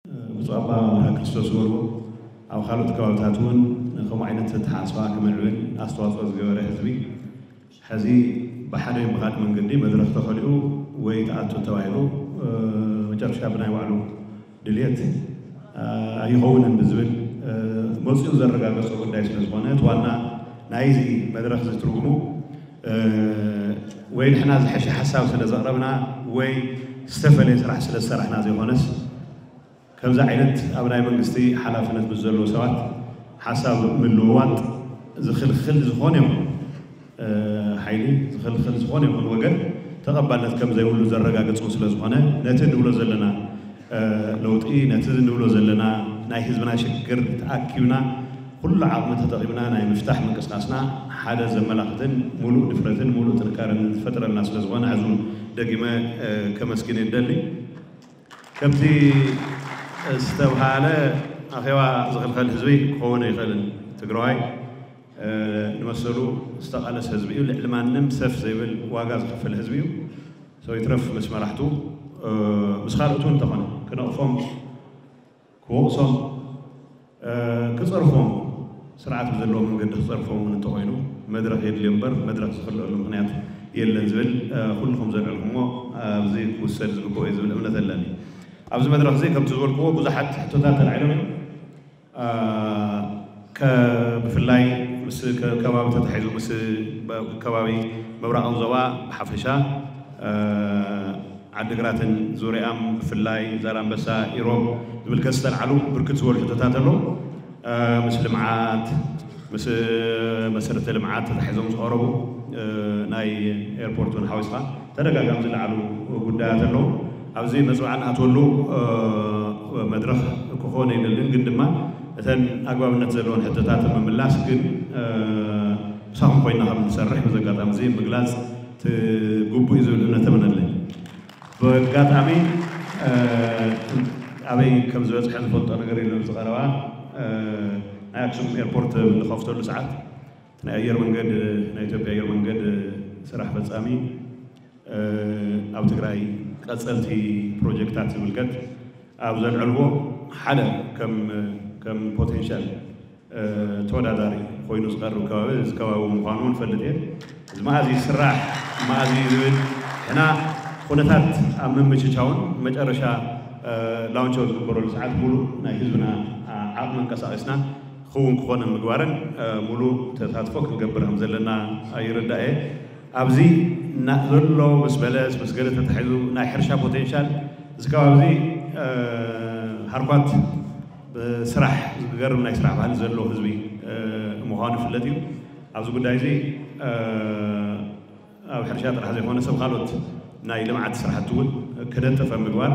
ብፁዕ ኣባ መርሃ ክርስቶስ ዝበልዎ ኣብ ካልኦት ከባብታት እውን ከምኡ ዓይነት ኣተሓሳስባ ክምዕብል ኣስተዋፅኦ ዝገበረ ህዝቢ ሕዚ ብሓደ ብኻልእ መንገዲ መድረኽ ተኸሊኡ ወይ ተኣቱ ተባሂሉ መጨረሻ ብናይ ባዕሉ ድልየት ኣይኸውንን ብዝብል መፅኡ ዘረጋገፆ ጉዳይ ስለ ዝኾነ እቲ ዋና ናይዚ መድረኽ እዚ ትርጉሙ ወይ ንሕና ዝሐሸ ሓሳብ ስለ ዘቕረብና ወይ ዝተፈለየ ስራሕ ስለ ዝሰራሕና ዘይኮነስ ከምዚ ዓይነት ኣብ ናይ መንግስቲ ሓላፍነት ምስ ዘለዉ ሰባት ሓሳብ ምልውዋጥ ዝኽልኽል ዝኾነ ይኹን ሓይሊ ዝኽልኽል ዝኾነ ይኹን ወገን ተቐባልነት ከም ዘይብሉ ዘረጋግጽ ስለ ዝኾነ ነቲ ንብሎ ዘለና ለውጢ ነቲ ንብሎ ዘለና ናይ ህዝብና ሽግር ተኣኪብና ኩሉ ዓቕሚ ተጠቒምና ናይ ምፍታሕ ምንቅስቃስና ሓደ ዘመላኽትን ሙሉእ ድፍረትን ሙሉእ ጥንካረን ዝፈጥረልና ስለ ዝኾነ ሕዚ እውን ደጊመ ከመስግን ይደሊ። ከምቲ ዝተብሃለ ኣኼባ ዝኽልኸል ህዝቢ ክኸውን ኣይኽእልን። ትግራዋይ ንመሰሉ ዝተቓለስ ህዝቢ እዩ። ልዕሊ ማንም ሰፍ ዘይብል ዋጋ ዝኸፍል ህዝቢ እዩ። ሰው ይትረፍ ምስ መራሕቱ ምስ ካልኦት እውን እንተኾነ ክነቕፎም ክወቕሶም ክፀርፎም ስርዓት ብዘለዎ መንገዲ ክፀርፎም እውን እንተኾይኑ መድረኽ የድልዮ እምበር መድረኽ ዝኽልአሉ ምኽንያት የለን ዝብል ኩልኹም ዘልዕልኩሞ ኣብዚ ክውሰድ ዝግብኦ እዩ ዝብል እምነት ኣለኒ። ኣብዚ መድረኽ እዚ ከምቲ ዝበልክዎ ብዙሓት ሕቶታት ተላዒሎም እዮም። ብፍላይ ምስ ከባቢ ተታሒዙ ምስ ከባቢ ምብራቓዊ ዞባ ብሓፈሻ ዓድግራትን ዙሪኣም ብፍላይ ዛላንበሳ ኢሮብ ዝምልከት ዝተልዓሉ ብርክት ዝበሉ ሕቶታት ኣለዉ። ምስ ልምዓት ምስ መሰረተ ልምዓት ተታሒዞም ዝቐረቡ ናይ ኤርፖርት እውን ሓዊስካ ተደጋጋሚ ዝለዓሉ ጉዳያት ኣለዉ። ኣብዚ መፅዋዕ ንኣትወሉ መድረኽ ክኾን ኣይደልን፣ ግን ድማ እተን ኣግባብነት ዘለዎን ሕቶታት ምምላስ ግን ምሳኹም ኮይና ከም ንሰርሕ በዚ ኣጋጣሚ እዚ ምግላፅ ትግቡእ እዩ ዝብል እምነት እምነለይ። ብኣጋጣሚ ኣበይ ከም ዝበፅሐ ዝፈልጦ ነገር የለን። ዝቐረባ ናይ ኣክሱም ኤርፖርት ብንኸፍተሉ ሰዓት ናይ ኣየር መንገድ ናይ ኢትዮጵያ ኣየር መንገድ ስራሕ ፈፃሚ ኣብ ትግራይ ቀፀልቲ ፕሮጀክታት ዝምልከት ኣብ ዘልዐልዎ ሓደ ከም ከም ፖቴንሻል ተወዳዳሪ ኮይኑ ዝቐርብ ከባቢ እዚ ከባቢ ምዃኑ እውን ፈልጥ እየ። እዚ መኣዚ ስራሕ መኣዚ ዝብል ሕና ኩነታት ኣብ ምምችቻውን መጨረሻ ላውንቸ ዝግበረሉ ሰዓት ሙሉእ ናይ ህዝብና ዓቕሚ እንቀሳቂስና ክኸውን ክኾነ ምግባርን ሙሉእ ተሳትፎ ክንገብር ከም ዘለና ይርዳእ እየ። ኣብዚ ዘሎ ምስ በለስ ምስ ገለ ተታሒዙ ናይ ሕርሻ ፖቴንሻል እዚ ከባቢ እዚ ሃርኳት ብስራሕ ዝገርም ናይ ስራሕ ባህሊ ዘለዎ ህዝቢ ምዃኑ ይፍለጥ እዩ። ኣብዚ ጉዳይ እዚ ኣብ ሕርሻ ጥራሕ ዘይኮነ ሰብ ካልኦት ናይ ልምዓት ስራሕቲ እውን ክደጥፈ ምግባር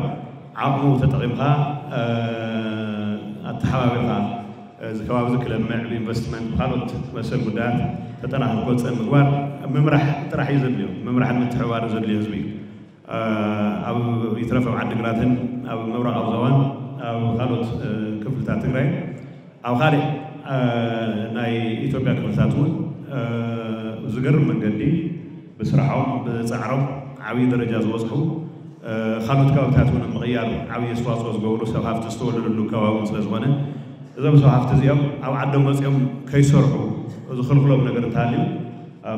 ዓቕሙ ተጠቒምካ ኣተሓባቢርካ እዚ ከባቢ እዚ ክለምዕ ብኢንቨስትመንት ብካልኦት መሰል ጉዳያት ተጠናኽሩ ክወፅእ ምግባር ምምራሕ ጥራሕ እዩ ዘድልዮ። ምምራሕን ምትሕብባርን ዘድልዮ ህዝቢ እዩ። ኣብ ይትረፍ ኣብ ዓዲግራትን ኣብ ምብራቕ ኣብ ዞባን ኣብ ካልኦት ክፍልታት ትግራይ ኣብ ካልእ ናይ ኢትዮጵያ ክፍልታት እውን ዝገርም መንገዲ ብስራሖም ብፃዕሮም ዓብዪ ደረጃ ዝበፅሑ ካልኦት ከባብታት እውን ምቕያር ዓብዪ ኣስተዋፅኦ ዝገብሩ ሰብ ሃፍቲ ዝተወለደሉ ከባቢ እውን ስለ ዝኾነ እዞም ሰብ ሃፍቲ እዚኦም ኣብ ዓዶም መፂኦም ከይሰርሑ ዝኽልክሎም ነገር እንተሃልዩ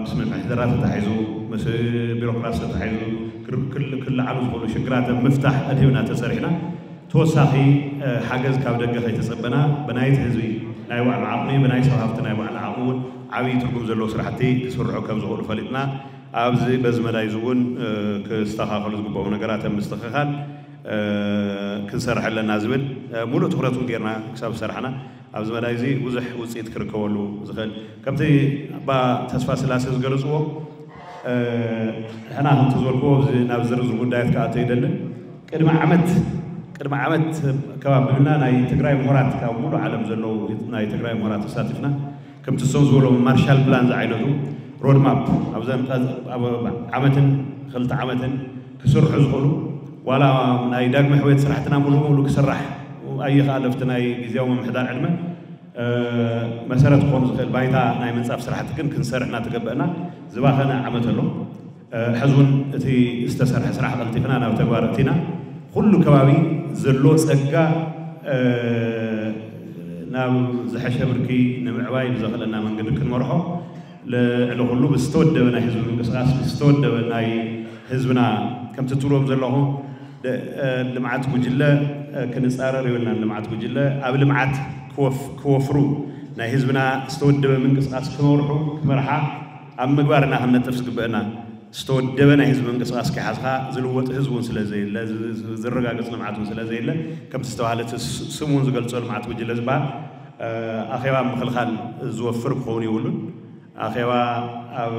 ምስ ምምሕዳራት ተታሒዙ ምስ ቢሮክራሲ ተታሒዙ ክልዓሉ ዝኽእሉ ሽግራት ምፍታሕ ኣድሂብና ተሰሪሕና ተወሳኺ ሓገዝ ካብ ደገ ከይተፀበና ብናይቲ ህዝቢ ናይ ባዕሉ ዓቕሚ ብናይ ሰብ ሃፍቲ ናይ ባዕሉ ዓቕሚ እውን ዓብዪ ትርጉም ዘለዎ ስራሕቲ ክስርሑ ከም ዝኽእሉ ፈሊጥና ኣብዚ በዚ መዳይ እዚ እውን ክስተኻኸሉ ዝግበኡ ነገራት ኣብ ምስትኽኻል ክንሰርሕ ኣለና ዝብል ሙሉእ ትኩረት እውን ጌርና ክሳብ ዝሰራሕና ኣብዚ መዳይ እዚ ብዙሕ ውፅኢት ክርከበሉ ዝኽእል ከምቲ ኣባ ተስፋ ስላሴ ዝገለፅዎ ሕና ከምቲ ዝበልክዎ ናብ ዝርዝር ጉዳያት ክኣቶ ይደልን ቅድሚ ዓመት ቅድሚ ዓመት ከባቢ ብልና ናይ ትግራይ ምሁራት ካብ ሙሉ ዓለም ዘለዉ ናይ ትግራይ ምሁራት ተሳቲፍና ከምቲ እሶም ዝበሎ ማርሻል ፕላን ዝዓይነቱ ሮድማፕ ኣብዘን ዓመትን ክልተ ዓመትን ክስርሑ ዝኽእሉ ዋላ ናይ ዳግመ ሕውየት ስራሕትና ሙሉ ሙሉ ክስራሕ ኣይኽኣለ ኣብቲ ናይ ግዜያዊ ምምሕዳር ዕድመ መሰረት ክኾኑ ዝኽእል ባይታ ናይ ምንፃፍ ስራሕቲ ግን ክንሰርሕ እናተገበአና ዝባኸነ ዓመት ኣሎ። ሕዚ እውን እቲ ዝተሰርሐ ስራሕ ቀልጢፍና ናብ ተግባር እቲና ኩሉ ከባቢ ዘሎ ፀጋ ናብ ዝሐሸ ብርኪ ንምዕባይ ብዘኽእለና መንገዲ ክንመርሖ፣ ልዕሊ ኩሉ ብዝተወደበ ናይ ህዝቢ ምንቅስቃስ፣ ብዝተወደበ ናይ ህዝብና፣ ከምቲ ትብልዎም ዘለኹ ልምዓት ጉጅለ ክንፃረር የብልናን። ልምዓት ጉጅለ ኣብ ልምዓት ክወፍሩ፣ ናይ ህዝብና ዝተወደበ ምንቅስቃስ ክመርሑ፣ ክመርሓ ኣብ ምግባር ኢና ክንነጥፍ ዝግበአና። ዝተወደበ ናይ ህዝቢ ምንቅስቃስ ከይሓዝካ ዝልወጥ ህዝቢ እውን ስለ ዘየለ፣ ዝረጋገፅ ልምዓት እውን ስለ ዘየለ፣ ከምቲ ዝተባሃለ እቲ ስም እውን ዝገልፆ ልምዓት ጉጅለ ዝበሃል ኣኼባ ምክልኻል ዝወፍር ክኸውን የብሉን። ኣኼባ ኣብ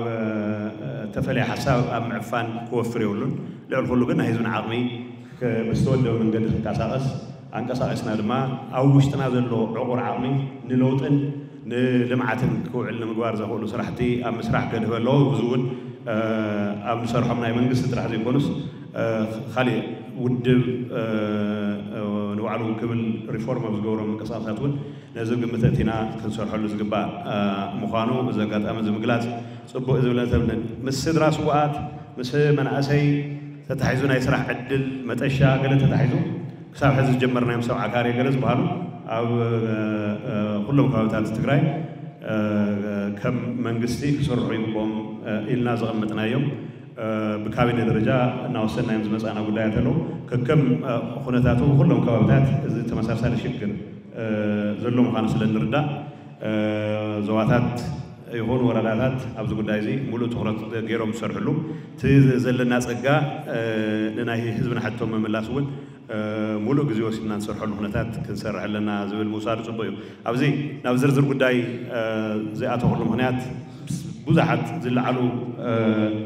ተፈለየ ሓሳብ ኣብ ምዕፋን ክወፍር የብሉን። ልዕሊ ኩሉ ግን ናይ ህዝብና ዓቕሚ ብዝተወደበ መንገዲ ክንቀሳቐስ፣ ኣንቀሳቒስና ድማ ኣብ ውሽጥና ዘሎ ዕቑር ዓቕሚ ንለውጥን ንልምዓትን ክውዕል ንምግባር ዘኽእሉ ስራሕቲ ኣብ ምስራሕ ገድህበ ኣለዎ። እዚ እውን ኣብ ንሰርሖም ናይ መንግስቲ ጥራሕ ዘይኮኑስ፣ ካሊእ ውድብ ንባዕሉ ክብል ሪፎርም ኣብ ዝገብሮም ምንቅስቃሳት እውን ነዚ ግምት ኣእቲና ክንሰርሐሉ ዝግባእ ምዃኑ እዚ ኣጋጣሚ እዚ ምግላፅ ፅቡቅ እዩ ዝብል እምነት የብለይን። ምስ ስድራ ስውኣት፣ ምስ መናእሰይ ተታሒዙ፣ ናይ ስራሕ ዕድል መጠሻ ገለ ተታሒዙ፣ ክሳብ ሕዚ ዝጀመርናዮም ሰብ ዓካሪ ገለ ዝበሃሉ ኣብ ኩሎም ከባቢታት ትግራይ ከም መንግስቲ ክስርሑ ይግብኦም ኢልና ዘቐመጥናዮም ብካቢነ ደረጃ እናወሰንናዮም ዝመፃና ጉዳያት ኣለዉ። ከከም ኩነታቱ ኩሎም ከባቢታት እዚ ተመሳሳሊ ሽግር ዘሎ ምዃኑ ስለ ንርዳእ፣ ዞባታት ይኹን ወረዳታት ኣብዚ ጉዳይ እዚ ሙሉእ ትኹረት ገይሮም ዝሰርሕሉ፣ እቲ ዘለና ፀጋ ንናይ ህዝብና ሕቶ ምምላስ እውን ሙሉእ ግዜ ወሲድና ንሰርሐሉ ኩነታት ክንሰርሕ ኣለና ዝብል ምውሳዱ ፅቡቅ እዩ። ኣብዚ ናብ ዝርዝር ጉዳይ ዘይኣተኹሉ ምኽንያት ብዙሓት ዝለዓሉ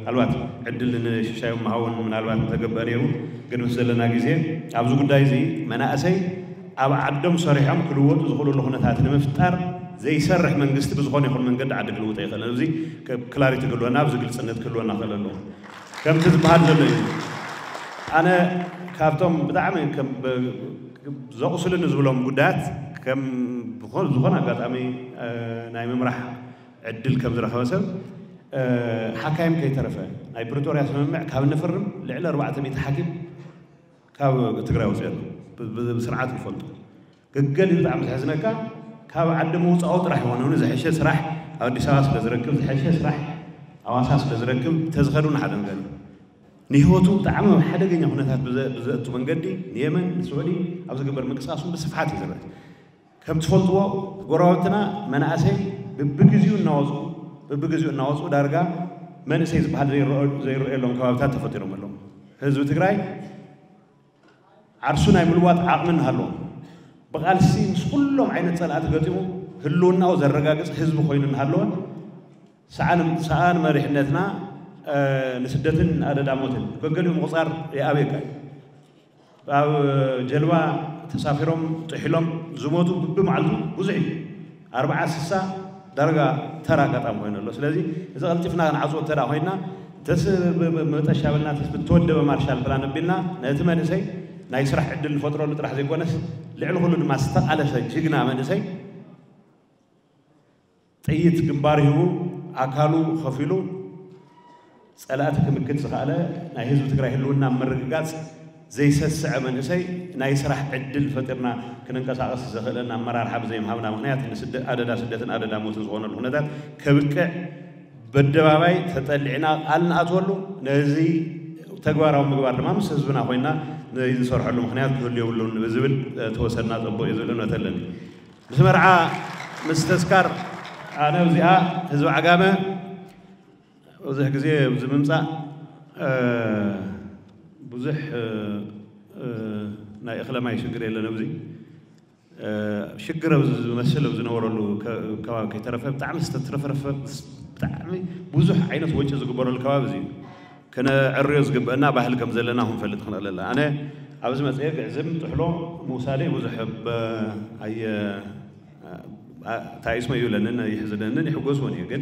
ኣልባት ዕድል ንሽሻዮም ምሃውን ምናልባት ተገብአ ነይሩ። ግን ምስ ዘለና ግዜ ኣብዚ ጉዳይ እዚ መናእሰይ ኣብ ዓዶም ሰሪሖም ክልወጡ ዝኽእሉሉ ኩነታት ንምፍጣር ዘይሰርሕ መንግስቲ ብዝኾነ ይኹን መንገዲ ዓዲ ክልውጥ ኣይኽእልን። እዚ ክላሪቲ ክህልወና፣ ኣብዚ ግልፅነት ክህልወና ክእል ኣለዎ። ከምቲ ዝበሃል ዘሎ እዩ። ኣነ ካብቶም ብጣዕሚ ዘቑስልኒ ዝብሎም ጉዳያት ከም ዝኾነ ኣጋጣሚ ናይ ምምራሕ ዕድል ከም ዝረኸበ ሰብ ሓካይም ከይተረፈ ናይ ፕሪቶርያ ስምምዕ ካብ ንፍርም ልዕሊ ኣርባዕተ ሚእቲ ሓኪም ካብ ትግራይ ወፂኡ ኣሎ። ብስርዓት ይፈልጡ። ገገል እዩ ብጣዕሚ ዘሕዝነካ፣ ካብ ዓዲ ምውፃኡ ጥራሕ ይኾነ ዝሐሸ ስራሕ ኣብ ኣዲስ ኣበባ ስለ ዝረክብ፣ ዝሐሸ ስራሕ ኣዋሳ ስለ ዝረክብ ተዝኸዱ ንሓደ ነገር እዩ። ንህይወቱ ብጣዕሚ ኣብ ሓደገኛ ኩነታት ብዘእቱ መንገዲ ንየመን ንስዑዲ ኣብ ዝግበር ምንቅስቃስ እውን ብስፍሓት እዩ ዝረአ። ከም ትፈልጥዎ ጎረባብትና መናእሰይ ብብግዚኡ እናወፁ ብብግዚኡ እናወፁ ዳርጋ መንእሰይ ዝበሃል ዘይረኣየሎም ከባብታት ተፈጢሮም ኣለዉ። ህዝቢ ትግራይ ዓርሱ ናይ ምልዋጥ ዓቕሚ እናሃለዎ ብቓልሲ ምስ ኩሎም ዓይነት ፀላእቲ ገጢሙ ህልውናኡ ዘረጋግፅ ህዝቢ ኮይኑ እናሃለወ ሰኣን መሪሕነትና ንስደትን ኣደዳ ሞትን ገገሊኡ ምቑፃር ይኣብየካ እዩ። ኣብ ጀልባ ተሳፊሮም ጥሒሎም ዝሞቱ ብብመዓልቱ ብዙሕ እዩ። ኣርባዓ ስሳ ዳርጋ ተራ ኣጋጣሚ ኮይኑ ኣሎ። ስለዚ እዚ ቀልጢፍና ክንዓፅዎ እንተ ኮይንና ተስ መጠሻ በልና ተስ ብተወደበ ማርሻል ፕላን ኣቢልና ነቲ መንእሰይ ናይ ስራሕ ዕድል ንፈጥረሉ ጥራሕ ዘይኮነስ ልዕሊ ኩሉ ድማ ዝተቓለሰ ጅግና መንእሰይ ጥይት ግንባር ሂቡ ኣካሉ ከፊሉ ፀላእቲ ክምክት ዝኸኣለ ናይ ህዝቢ ትግራይ ህልውና ምርግጋፅ ዘይሰስዐ መንእሰይ ናይ ስራሕ ዕድል ፈጢርና ክንንቀሳቐስ ዘኽእለና ኣመራርሓ ብዘይምሃብና ምኽንያት ንስደ- ኣደዳ ስደትን ኣደዳ ሞትን ዝኾነሉ ኩነታት ከብቅዕ በደባባይ ተጠሊዕና ቃል ንኣትወሉ ነዚ ተግባራዊ ምግባር ድማ ምስ ህዝብና ኮይና ነዚ ዝሰርሐሉ ምኽንያት ክህሉ የብሉን ብዝብል ተወሰድና ፅቡቅ እዩ ዝብል እምነት ኣለኒ። ምስ መርዓ ምስ ተስካር ኣነ እዚኣ ህዝቢ ዓጋመ ብዙሕ ግዜ ኣብዚ ምምፃእ ብዙሕ ናይ እኽለ ማይ ሽግር የለን። ኣብዚ ሽግር ኣብዚ ዝመስል ኣብ ዝነበረሉ ከባቢ ከይተረፈ ብጣዕሚ ዝተትረፈረፈ ብጣዕሚ ብዙሕ ዓይነት ወጪ ዝግበረሉ ከባቢ እዚ እዩ። ክነዕርዮ ዝግበአና ባህሊ ከም ዘለና ክንፈልጥ ክንኽእል ኣለና። ኣነ ኣብዚ መፅአ ግዕዝም ጥሕሎ ምውሳደይ ብዙሕ ኣየ ታይስመ ይብለንን ይሕዝነንን ይሕጎስዎን እዩ። ግን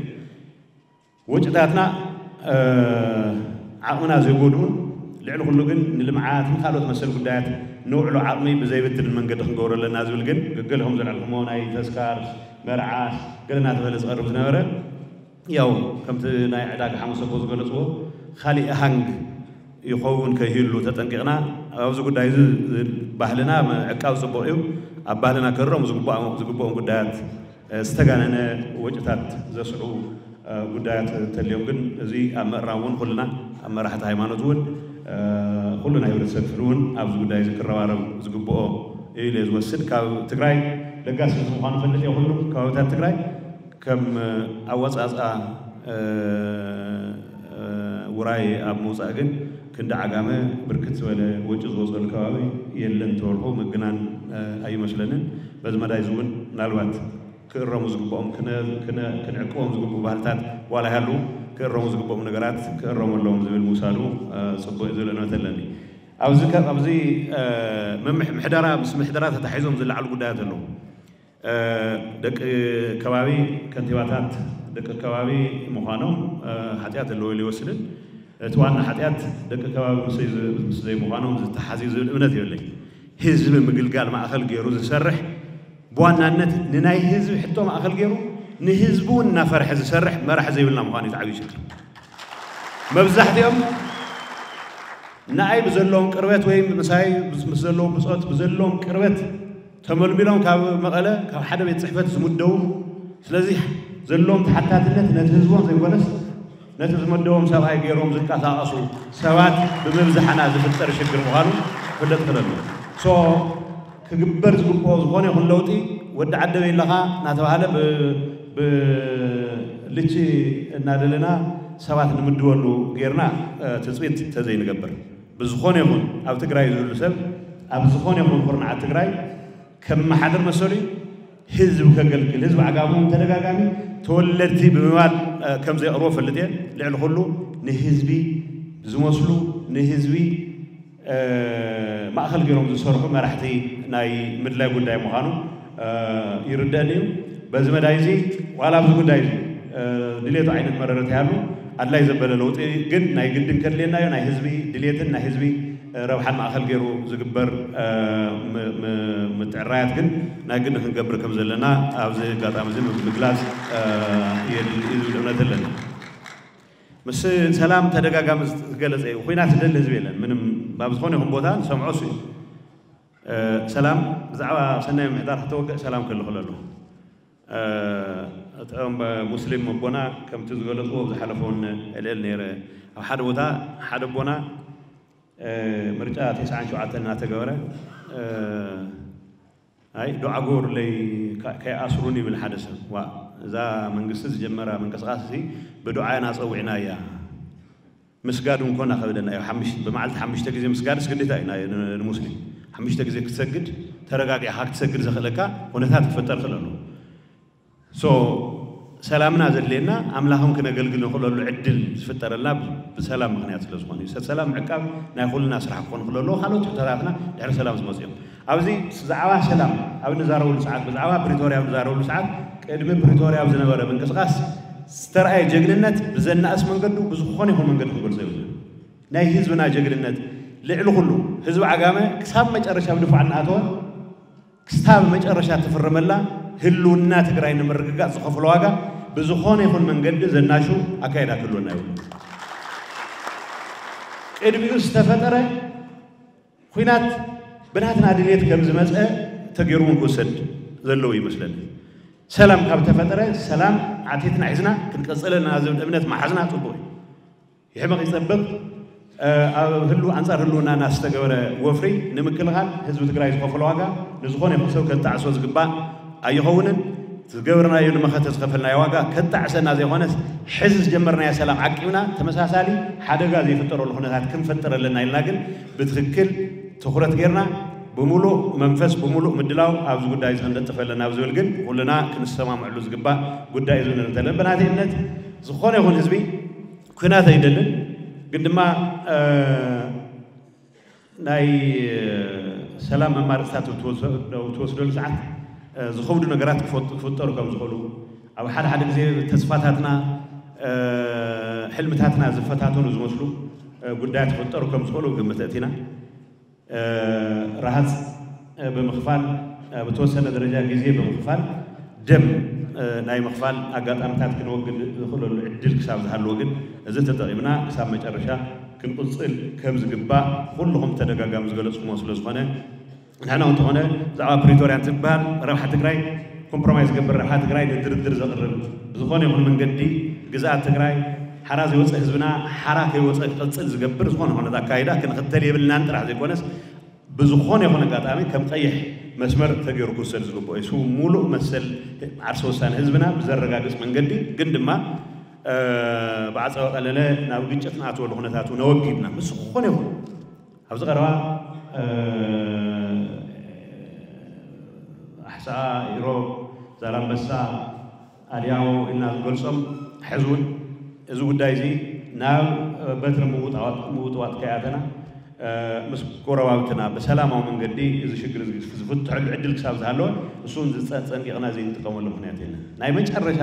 ወጭታትና ዓቕምና ዘይጎድኡን ልዕሊ ኩሉ ግን ንልምዓት ንካልኦት መሰል ጉዳያት ነውዕሎ ዓቕሚ ብዘይብትንን መንገዲ ክንገብሮ ኣለና ዝብል ግን ገገሊኹም ዘልዕልኩሞ ናይ ተስካር መርዓ ገለ እናተበለ ዝቐርብ ዝነበረ ያው ከምቲ ናይ ዕዳጋ ሓሙስ ኣቦ ዝገለፅዎ ካሊእ ሃንግ ይኸውን ከይህሉ ተጠንቂቕና ኣብዚ ጉዳይ እዚ ባህልና ምዕቃብ ጽቡቕ እዩ። ኣብ ባህልና ክእረሙ ዝግባኦም ጉዳያት ዝተጋነነ ወጪታት ዘስዕቡ ጉዳያት እንተልዮም ግን እዚ ኣብ ምእራም እውን ኩልና ኣብ መራሕቲ ሃይማኖት እውን ኩሉ ናይ ህብረተሰብ ክፍሊ እውን ኣብዚ ጉዳይ እዚ ክረባረብ ዝግብኦ እዩ ኢለ ዝወስድ። ካብ ትግራይ ለጋስ ህዝቢ ምዃኑ ፈልጥ እየ። ኩሉ ከባብታት ትግራይ ከም ኣወፃፅኣ ውራይ ኣብ ምውፃእ ግን ክንዲ ዓጋመ ብርክት ዝበለ ወጪ ዝወፀሉ ከባቢ የለን ተበልኩ ምግናን ኣይመስለንን። በዚ መዳይ እዚ እውን ምናልባት ክእረሙ ዝግብኦም ክንዕቅቦም ዝግብኡ ባህልታት ዋላ ይሃሉ ክእረሙ ዝግብኦም ነገራት ክእረሙ ኣለዎም ዝብል ምውሳዱ ፅቡቅ ዝብል እምነት ኣለኒ። ኣብዚ ኣብዚ ምሕደራ ምስ ምሕደራ ተታሒዞም ዝለዓሉ ጉዳያት ኣለዉ። ደቂ ከባቢ ከንቲባታት ደቂ ከባቢ ምዃኖም ሓጢኣት ኣለዎ ኢሉ ይወስድን እቲ ዋና ሓጢኣት ደቂ ከባቢ ምስ ዘይምዃኖም ዝተሓዝ ዝብል እምነት የብለይ። ህዝቢ ምግልጋል ማእኸል ገይሩ ዝሰርሕ ብዋናነት ንናይ ህዝቢ ሕቶ ማእኸል ገይሩ ንህዝቢ እውን እናፈርሐ ዝሰርሕ መራሕ ዘይብልና ምዃኑ እዩ ዓብዩ ችግር። መብዛሕትኦም ንኣይ ብዘለዎም ቅርበት ወይ ምሳይ ምስ ዘለዎም ብፆት ብዘለዎም ቅርበት ተመልሚሎም ካብ መቐለ ካብ ሓደ ቤት ፅሕፈት ዝምደቡ፣ ስለዚ ዘለዎም ተሓታትነት ነቲ ህዝቦም ዘይኮነስ ነቲ ዝመደቦም ሰብኣይ ገይሮም ዝንቀሳቐሱ ሰባት ብምብዛሕና ዝፍጠር ሽግር ምዃኑ ክፍለጥ ክለሉ። ሶ ክግበር ዝግብኦ ዝኾነ ይኹን ለውጢ ወዲ ዓደበይ ኣለኻ እናተባሃለ ብልቺ እናደለና ሰባት ንምድበሉ ጌርና ትፅቢት ተዘይንገብር ብዝኾነ ይኹን ኣብ ትግራይ ዝህሉ ሰብ ኣብ ዝኾነ ይኹን ኩርናዓት ትግራይ ከመሓድር መሰሉ እዩ። ህዝቢ ከገልግል ህዝቢ ዓጋሙ ተደጋጋሚ ተወለድቲ ብምባል ከም ዘየቕርቦ ፈልጥ እየ። ልዕሊ ኩሉ ንህዝቢ ዝመስሉ ንህዝቢ ማእኸል ገይሮም ዝሰርሑ መራሕቲ ናይ ምድላይ ጉዳይ ምዃኑ ይርደአኒ እዩ። በዚ መዳይ እዚ ዋላ ኣብዚ ጉዳይ እዚ ድሌቱ ዓይነት መረረት ይሃሉ ኣድላይ ዘበለ ለውጢ ግን ናይ ግድን ከድልየና እዩ። ናይ ህዝቢ ድሌትን ናይ ህዝቢ ረብሓን ማእኸል ገይሩ ዝግበር ምትዕራያት ግን ናይ ግድን ክንገብር ከም ዘለና ኣብዚ ኣጋጣሚ እዚ ምግላፅ የድሊ እዩ ዝብል እምነት ኣለኒ። ምስ ሰላም ተደጋጋሚ ዝገለፀ እዩ። ኩናት ዝደሊ ህዝቢ የለን። ምንም ኣብ ዝኾነ ይኹን ቦታ ንሰምዖ እሱ እዩ። ሰላም ብዛዕባ ሰናይ ምምሕዳር ክተወግዕ ሰላም ክልኽሎ ኣሎ። እቶም ሙስሊም ኣቦና ከምቲ ዝገለፅዎ ኣብ ዝሓለፈ እውን እልእል ነይረ። ኣብ ሓደ ቦታ ሓደ ኣቦና ምርጫ ተስዓን ሸውዓተን እናተገበረ ኣይ ዱዓ ግበሩለይ ከይኣስሩን ይብል ሓደ ሰብ። ዋ እዛ መንግስቲ ዝጀመራ ምንቅስቃስ እዚ ብዱዓ ኢና ፀዊዕና እያ። ምስጋድ እንኮን ኣኸብደና እዩ። ብመዓልቲ ሓሙሽተ ግዜ ምስጋድስ ግዴታ እዩ ንሙስሊም። ሓሙሽተ ግዜ ክትሰግድ ተረጋጊዕካ ክትሰግድ ዘኽእለካ ኩነታት ክፍጠር ክእል ኣለዎ። ሶ ሰላምና ዘድልየና ኣምላኽም ክነገልግል ንኽእለሉ ዕድል ዝፍጠረልና ብሰላም ምኽንያት ስለ ዝኾነ እዩ። ሰብ ሰላም ምዕቃብ ናይ ኩልና ስራሕ ክኾን ክእል ኣለዎ። ካልኦት ሕቶታትና ድሕሪ ሰላም ዝመፁ እዮም። ኣብዚ ብዛዕባ ሰላም ኣብ ንዛረበሉ ሰዓት ብዛዕባ ፕሪቶርያ ኣብ ንዛረበሉ ሰዓት ቅድሚ ፕሪቶርያ ኣብ ዝነበረ ምንቅስቃስ ዝተረኣየ ጀግንነት ብዘናእስ መንገዱ ብዝኾነ ይኹን መንገዲ ክገልፆ ይብሉ። ናይ ህዝብና ጀግንነት ልዕሊ ኩሉ ህዝቢ ዓጋመ ክሳብ መጨረሻ ብድፋዕ እናኣተወ ክስታብ መጨረሻ ትፍርመላ ህልውና ትግራይ ንምርግጋፅ ዝኸፍሎ ዋጋ ብዝኾነ ይኹን መንገዲ ዘናሹ ኣካይዳ ክህልወና ይብሉ። ቅድሚኡ ዝተፈጠረ ኩናት ብናትና ድሌት ከም ዝመፀ ተገይሩ እውን ክውሰድ ዘለዎ ይመስለኒ። ሰላም ካብ ተፈጠረ ሰላም ዓቲትና ሒዝና ክንቀፅለና ዝብል እምነት መሓዝና ፅቡቅ እዩ። ይሕመቕ ይፀብቕ ኣብ ህሉ ኣንፃር ህልውናና ዝተገበረ ወፍሪ ንምክልኻል ህዝቢ ትግራይ ዝኸፈሎ ዋጋ ንዝኾነ ይኹን ሰብ ከጣዕሶ ዝግባእ ኣይኸውንን። ዝገበርናዮ ንመኸተ ዝኸፈልናዮ ዋጋ ከጣዕሰና ዘይኮነስ ሕዚ ዝጀመርናዮ ሰላም ዓቂብና ተመሳሳሊ ሓደጋ ዘይፍጠረሉ ኩነታት ክንፈጥር ኣለና ኢልና ግን ብትኽክል ትኹረት ጌርና ብምሉእ መንፈስ ብምሉእ ምድላው ኣብዚ ጉዳይ እዚ ክንነጥፍ ኣለና ኣብ ዝብል ግን ኩልና ክንሰማምዐሉ ዝግባእ ጉዳይ እዩ ዝብል እንተለን ብናተይ እምነት ዝኾነ ይኹን ህዝቢ ኩናት ኣይደልን ግን ድማ ናይ ሰላም መማርፅታት ትወስደሉ ሰዓት ዝኸብዱ ነገራት ክፈጠሩ ከም ዝኽእሉ ኣብ ሓደ ሓደ ግዜ ተስፋታትና ሕልምታትና ዝፈታተኑ ዝመስሉ ጉዳያት ክፈጠሩ ከም ዝኽእሉ ግምት እቲና ረሃፅ ብምኽፋል ብተወሰነ ደረጃ ግዜ ብምኽፋል ደም ናይ ምኽፋል ኣጋጣሚታት ክንወግድ ዝኽእለሉ ዕድል ክሳብ ዝሃለዎ ግን እዚ ተጠቒምና ክሳብ መጨረሻ ክንቕፅል ከም ዝግባእ ኩልኹም ተደጋጋሚ ዝገለፅኩሞ ስለ ዝኾነ፣ ንሕና እውን እንተኾነ ብዛዕባ ፕሪቶርያ እንትበሃል ረብሓ ትግራይ ኮምፕሮማይዝ ዝገብር፣ ረብሓ ትግራይ ንድርድር ዘቕርብ ብዝኾነ ይኹን መንገዲ ግዝኣት ትግራይ ሓራ ዘይወፀ ህዝብና ሓራ ከይወፀ ክቕፅል ዝገብር ዝኾነ ኾነት ኣካይዳ ክንኽተል የብልናን ጥራሕ ዘይኮነስ ብዝኾነ ይኹን ኣጋጣሚ ከም ቀይሕ መስመር ተገይሩ ክውሰድ ዝግብኦ እዩ። እሱ ሙሉእ መሰል ዓርሰ ውሳነ ህዝብና ብዘረጋግፅ መንገዲ ግን ድማ ብዓፀወ ቀለለ ናብ ግጭት ንኣትወሉ ኩነታት እውን ኣወጊድና ምስ ዝኾነ ይኹን ኣብዚ ቀረባ ኣሕሳኣ፣ ኢሮብ፣ ዛላምበሳ፣ ኣድያው ኢልና ዝገልጾም ሕዚ እውን እዚ ጉዳይ እዚ ናብ በትሪ ምውጥዋጥ ከይኣተና ምስ ጎረባብትና ብሰላማዊ መንገዲ እዚ ሽግር እዚ ዝፍትሐሉ ዕድል ክሳብ ዝሃለወ እሱ እውን ዝፀንቂቕና ዘይንጥቀመሉ ምክንያት የለን። ናይ መጨረሻ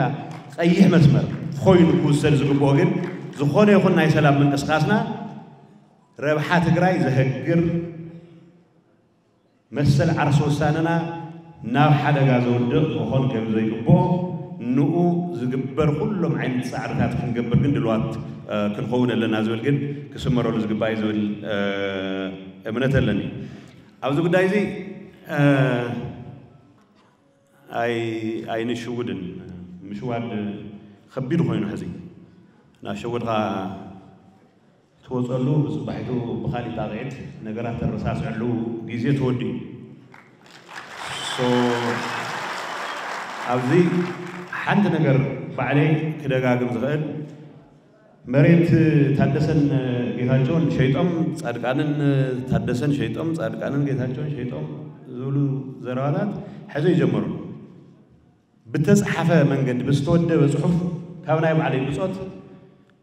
ቀይሕ መስመር ኮይኑ ክውሰድ ዝግብኦ ግን ዝኾነ ይኹን ናይ ሰላም ምንቅስቃስና ረብሓ ትግራይ ዘህግር መሰል ዓርሰ ውሳነና ናብ ሓደጋ ዘውድቕ ክኾን ከም ዘይግብኦ ንኡ ዝግበር ኩሎም ዓይነት ፃዕርታት ክንገብር ግን ድልዋት ክንኸውን ኣለና ዝብል ግን ክስመረሉ ዝግባእ እዩ ዝብል እምነት ኣለኒ። ኣብዚ ጉዳይ እዚ ኣይንሽውድን። ምሽዋድ ከቢድ ኮይኑ ሕዚ እናሸወድካ ትወፀሉ ብፅባሒቱ ብካሊእ ጣቕዒት ነገራት ተረሳስዐሉ ግዜ ተወዲኡ። ኣብዚ ሓንቲ ነገር ባዕለይ ክደጋግም ዝኽእል መሬት ታደሰን ጌታቸውን ሸይጦም ፃድቃንን ታደሰን ሸይጦም ፃድቃንን ጌታቸውን ሸይጦም ዝብሉ ዘረባታት ሕዚ ይጀመሩ። ብተፅሓፈ መንገዲ ብዝተወደበ ፅሑፍ ካብ ናይ ባዕለይ ብፆት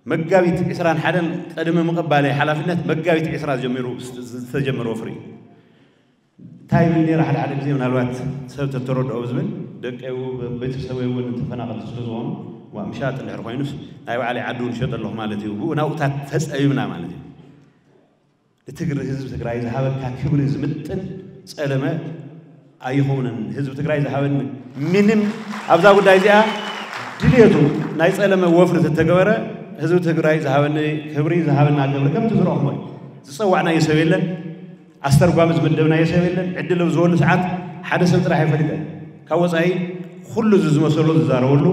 መጋቢት ዕስራን ሓደን ቅድሚ ምቕባለይ ሓላፍነት መጋቢት ዕስራ ጀሚሩ ዝተጀመረ ወፍሪ እንታይ ይብል ነይረ? ሓደ ሓደ ግዜ ምናልባት ሰብ ተተረድኦ ዝብል ደቀይ ቤተሰበይ እውን ተፈናቐልቲ ስለ ዝኾኑ ምሻጥ እንድሕር ኮይኑስ ናይ ባዕለይ ዓዲ እውን ሸጥ ኣለኹ ማለት እዩ። ብኡ ናብኡታት ተፀቢብና ማለት እዩ። ንትግሪ ህዝቢ ትግራይ ዝሃበካ ክብሪ ዝምጥን ጸለመ ኣይኸውንን። ህዝቢ ትግራይ ዝሃበኒ ምንም ኣብዛ ጉዳይ እዚኣ ድልየቱ ናይ ጸለመ ወፍሪ ተተገበረ ህዝቢ ትግራይ ዝሃበኒ ክብሪ ዝሃበና ክብሪ ከምቲ ዝረኹሞ እዩ። ዝጸዋዕናዮ ሰብ የለን፣ ኣስተርጓሚ ዝመደብናዮ ሰብ የለን። ዕድል ኣብ ዝበሉ ሰዓት ሓደ ሰብ ጥራሕ ይፈልጠ ካብ ወፃኢ ኩሉ እዚ ዝመሰሎ ዝዛረበሉ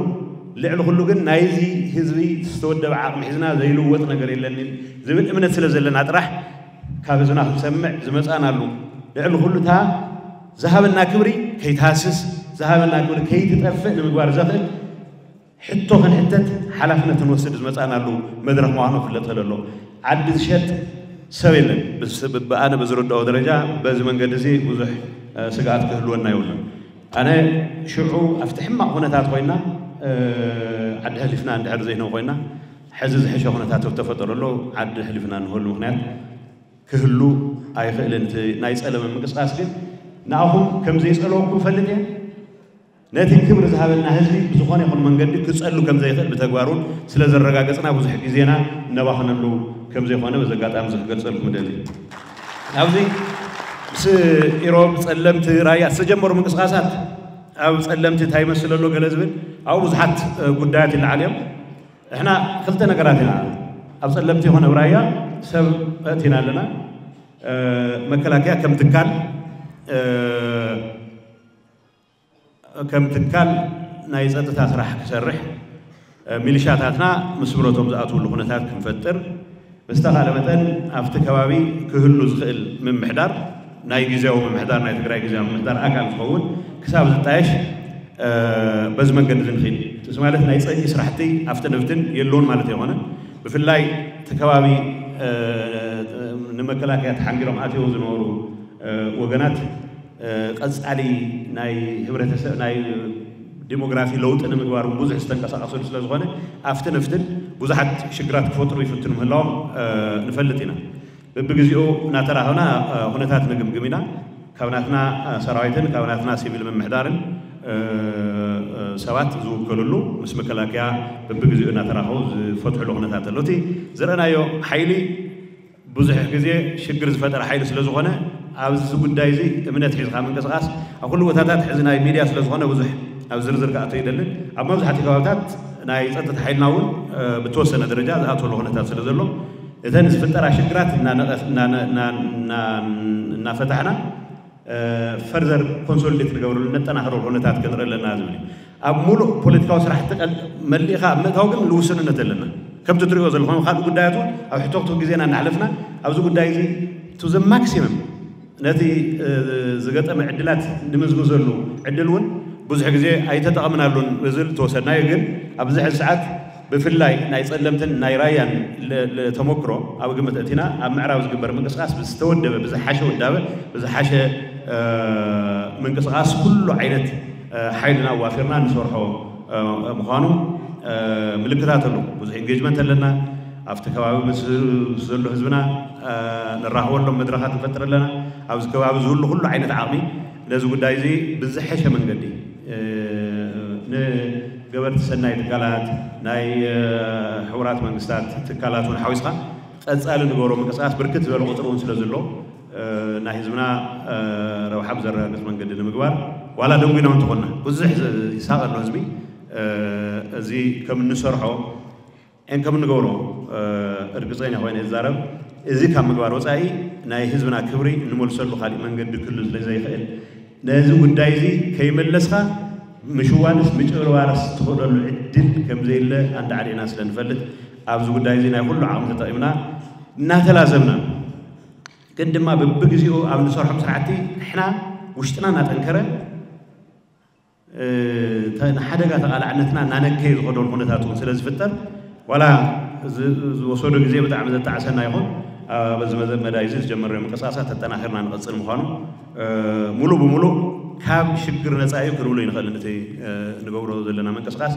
ልዕሊ ኩሉ ግን ናይዚ ህዝቢ ዝተወደበ ዓቕሚ ሒዝና ዘይልወጥ ነገር የለንን ዝብል እምነት ስለ ዘለና ጥራሕ ካብ ህዝብና ክንሰምዕ ዝመፃናሉ ልዕሊ ኩሉ እታ ዝሃበና ክብሪ ከይትሃስስ ዝሃበና ክብሪ ከይትጠፍእ ንምግባር ዘኽእል ሕቶ ክንሕተት ሓላፍነት ክንወስድ ዝመፃናሉ መድረኽ ምዃኑ ክፍለጥ ከለሎ ዓዲ ዝሸጥ ሰብ የለን። ብኣነ ብዝርድኦ ደረጃ በዚ መንገዲ እዚ ብዙሕ ስግኣት ክህልወና የብሉን። ኣነ ሽዑ ኣብቲ ሕማቕ ኩነታት ኮይና ዓዲ ሕሊፍና እንድሕር ዘይንህብ ኮይና ሕዚ ዝሕሸ ኩነታት ተፈጠረሉ ዓዲ ሕሊፍና እንህበሉ ምክንያት ክህሉ ኣይኽእልን። እቲ ናይ ጸለመ ምንቅስቃስ ግን ንኣኹም ከም ዘይጸለወኩም ፈልጥ እየ። ነቲ ክብሪ ዝሃበና ህዝቢ ብዝኾነ ይኹን መንገዲ ክጸሉ ከም ዘይኽእል ብተግባር እውን ስለ ዘረጋገጽና ብዙሕ ግዜና እነባኽነሉ ከም ዘይኾነ በዚ ኣጋጣሚ እዚ ክገልጸልኩም እደሊ። ኣብዚ ምስ ኢሮብ፣ ጸለምቲ፣ ራያ ዝተጀመሩ ምንቅስቃሳት ኣብ ጸለምቲ እንታይ ይመስል ኣሎ ገለ ዝብል ኣብኡ ብዙሓት ጉዳያት ይለዓል እዮም። ንሕና ክልተ ነገራት ኢና ኣብ ጸለምቲ ይኹን ኣብ ራያ ሰብ ኣእቲና ኣለና። መከላከያ ከም ትካል ከም ትካል ናይ ጸጥታ ስራሕ ክሰርሕ ሚሊሻታትና ምስ ብረቶም ዝኣትውሉ ኩነታት ክንፈጥር ብዝተኻለ መጠን ኣብቲ ከባቢ ክህሉ ዝኽእል ምምሕዳር ናይ ግዜያዊ ምምሕዳር ናይ ትግራይ ግዜያዊ ምምሕዳር ኣካል ዝኸውን ክሳብ ዝጣየሽ በዚ መንገዲ እዚ ንኽእል እዚ ማለት ናይ ጸቂ ስራሕቲ ኣብቲ ንብትን የለውን ማለት ኣይኮነ። ብፍላይ እቲ ከባቢ ንመከላከያ ተሓንጊሮም ኣትዮ ዝነበሩ ወገናት ቀፃሊ ናይ ህብረተሰብ ናይ ዲሞግራፊ ለውጢ ንምግባር እውን ብዙሕ ዝተንቀሳቀሰሉ ስለ ዝኾነ ኣብቲ ንፍትን ብዙሓት ሽግራት ክፈጥሩ ይፍትኑ ምህላዎም ንፈልጥ ኢና። በብግዜኡ እናተራኸብና ኩነታት ንግምግም ኢና። ካብ ናትና ሰራዊትን ካብ ናትና ሲቪል ምምሕዳርን ሰባት ዝውከልሉ ምስ መከላከያ በብግዜኡ እናተራኸቡ ዝፈትሕሉ ኩነታት ኣሎ። እቲ ዝረእናዮ ሓይሊ ብዙሕ ግዜ ሽግር ዝፈጠረ ሓይሊ ስለ ዝኾነ ኣብዚ ጉዳይ እዚ እምነት ሒዝካ ምንቅስቃስ ኣብ ኩሉ ቦታታት ሕዚ ናይ ሚድያ ስለ ዝኾነ ብዙሕ ኣብ ዝርዝር ክኣቶ ይደልን ኣብ መብዛሕትኡ ከባብታት ናይ ፀጥታ ሓይልና እውን ብተወሰነ ደረጃ ዝኣተወሉ ኩነታት ስለ ዘሎ እተን ዝፍጠራ ሽግራት እናነቐስ- እናነ- እና- እና- እናፈታሕና ፈርዘር ኮንሶሊዴት ንገብረሉ ነጠናኽረሉ ኩነታት ክንርኢ ኣለና ዝብል እዩ። ኣብ ሙሉእ ፖለቲካዊ ስራሕቲ ቀል- መሊእኻ ኣብ ምእታው ግን ልውስንነት ኣለና። ከምቲ ትሪእዎ ዘለኹም ካልእ ጉዳያት እውን ኣብ ሕቶክቶ ግዜና እናሕለፍና ኣብዚ ጉዳይ እዚ ቱ ዘ ማክሲመም ነቲ ዝገጠመ ዕድላት ንምዝምዘሉ ዕድል እውን ብዙሕ ግዜ ኣይተጠቐምናሉን ብዝብል ተወሰድናዮ። ግን ኣብዚ ሕዚ ሰዓት ብፍላይ ናይ ጸለምትን ናይ ራያን ተመክሮ ኣብ ግምት እቲና ኣብ ምዕራብ ዝግበር ምንቅስቃስ ብዝተወደበ ብዝሓሸ ውዳበ ብዝሓሸ ምንቅስቃስ ኩሉ ዓይነት ሓይልና ኣዋፊርና ንሰርሖ ምዃኑ ምልክታት ኣሎ። ብዙሕ ኢንጌጅመንት ኣለና። ኣብቲ ከባቢ ምስ ዘሎ ህዝብና ንራኸበሎም መድረኻት ንፈጥር ኣለና። ኣብዚ ከባቢ ዝህሉ ኩሉ ዓይነት ዓቕሚ ነዚ ጉዳይ እዚ ብዝሐሸ መንገዲ ንገበርቲ ሰናይ ትካላት ናይ ሕቡራት መንግስታት ትካላት እውን ሓዊስካ ቀፃሊ ንገብሮ ምንቅስቃስ ብርክት ዝበለ ቁፅሪ እውን ስለ ዘሎ ናይ ህዝብና ረብሓ ብዘረጋግፅ መንገዲ ንምግባር ዋላ ደንጉና እውን ተኾንና ብዙሕ ይሳቐ ኣሎ ህዝቢ እዚ ከም እንሰርሖ ን ከም እንገብሮ እርግፀኛ ኮይነ ዝዛረብ እዚ ካብ ምግባር ወፃኢ ናይ ህዝብና ክብሪ እንመልሰሉ ካሊእ መንገዲ ክህሉ ስለ ዘይኽእል ነዚ ጉዳይ እዚ ከይመለስካ ምሽዋንስ ምጭብርባርስ ትኽእለሉ ዕድል ከም ዘየለ ኣንዳዕዲዕና ስለ ንፈልጥ ኣብዚ ጉዳይ እዚ ናይ ኩሉ ዓቕሚ ተጠቒምና እናተላዘብና ግን ድማ በብግዜኡ ኣብ ንሰርሖም ስራሕቲ ንሕና ውሽጥና እናጠንከረ ንሓደጋ ተቓላዕነትና እናነከየ ዝኸደሉ ኩነታት እውን ስለ ዝፍጠር ዋላ ዝወሰዶ ግዜ ብጣዕሚ ዘጣዕሰና ይኹን በዚ መዳይ እዚ ዝጀመርናዮ ምንቅስቃሳት ተጠናኺርና ንቐፅል ምዃኑ ሙሉእ ብሙሉእ ካብ ሽግር ነፃ እዩ ክንብሎ ይንኽእል። እቲ ንገብሮ ዘለና ምንቅስቃስ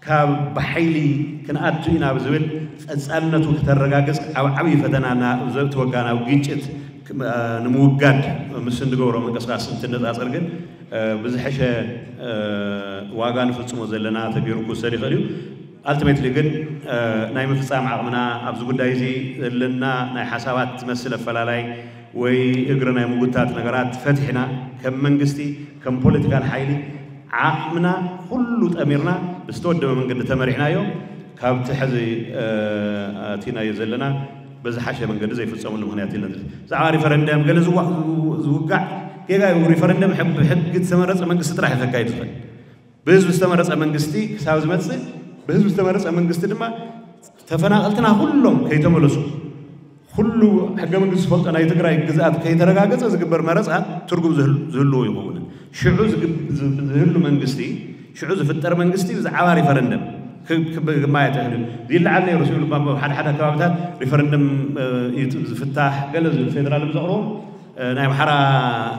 ካብ ብሓይሊ ክንኣቱ ኢና ብዝብል ቀፃልነቱ ክተረጋግፅ ኣብ ዓብዪ ፈተና ዘእትወካ ናብ ግጭት ንምውጋድ ምስ እንገብሮ ምንቅስቃስ እንትነፃፀር ግን ብዝሐሸ ዋጋ ንፍፅሞ ዘለና ተገይሩ ክውሰድ ይኽእል እዩ። ኣልቲሜትሊ ግን ናይ ምፍፃም ዓቕምና ኣብዚ ጉዳይ እዚ ዘለና ናይ ሓሳባት ዝመስል ኣፈላላይ ወይ እግሪ ናይ ምጉታት ነገራት ፈቲሕና ከም መንግስቲ ከም ፖለቲካል ሓይሊ ዓቕምና ኩሉ ጠሚርና ብዝተወደበ መንገዲ ተመሪሕናዮ ካብቲ ሕዚ ኣቲናዮ ዘለና ብዝሓሸ መንገዲ ዘይፍፀመሉ ምክንያት የለን። ብዛዕባ ሪፈረንደም ገለ ዝውጋዕ ጌጋ እዩ። ሪፈረንደም ብሕጊ ዝተመረፀ መንግስቲ ጥራሕ እዩ ከካይድ ዝኽእል። ብህዝቢ ዝተመረፀ መንግስቲ ክሳብ ዝመፅእ ብህዝቢ ዝተመረፀ መንግስቲ ድማ ተፈናቐልትና ኩሎም ከይተመለሱ ኩሉ ሕገ መንግስቲ ዝፈልጦ ናይ ትግራይ ግዝኣት ከይተረጋገፀ ዝግበር መረፃ ትርጉም ዝህልዎ ይኸውን። ሽዑ ዝህሉ መንግስቲ ሽዑ ዝፍጠር መንግስቲ ብዛዕባ ሪፈረንደም ክማየጥ ይኽእል እዩ። ይለዓል ነይሩ ሲሉ ሓደ ሓደ ከባብታት ሪፈረንደም ዝፍታሕ ገለ ዝብል ፌደራል ዘቕርቦ ናይ ኣምሓራ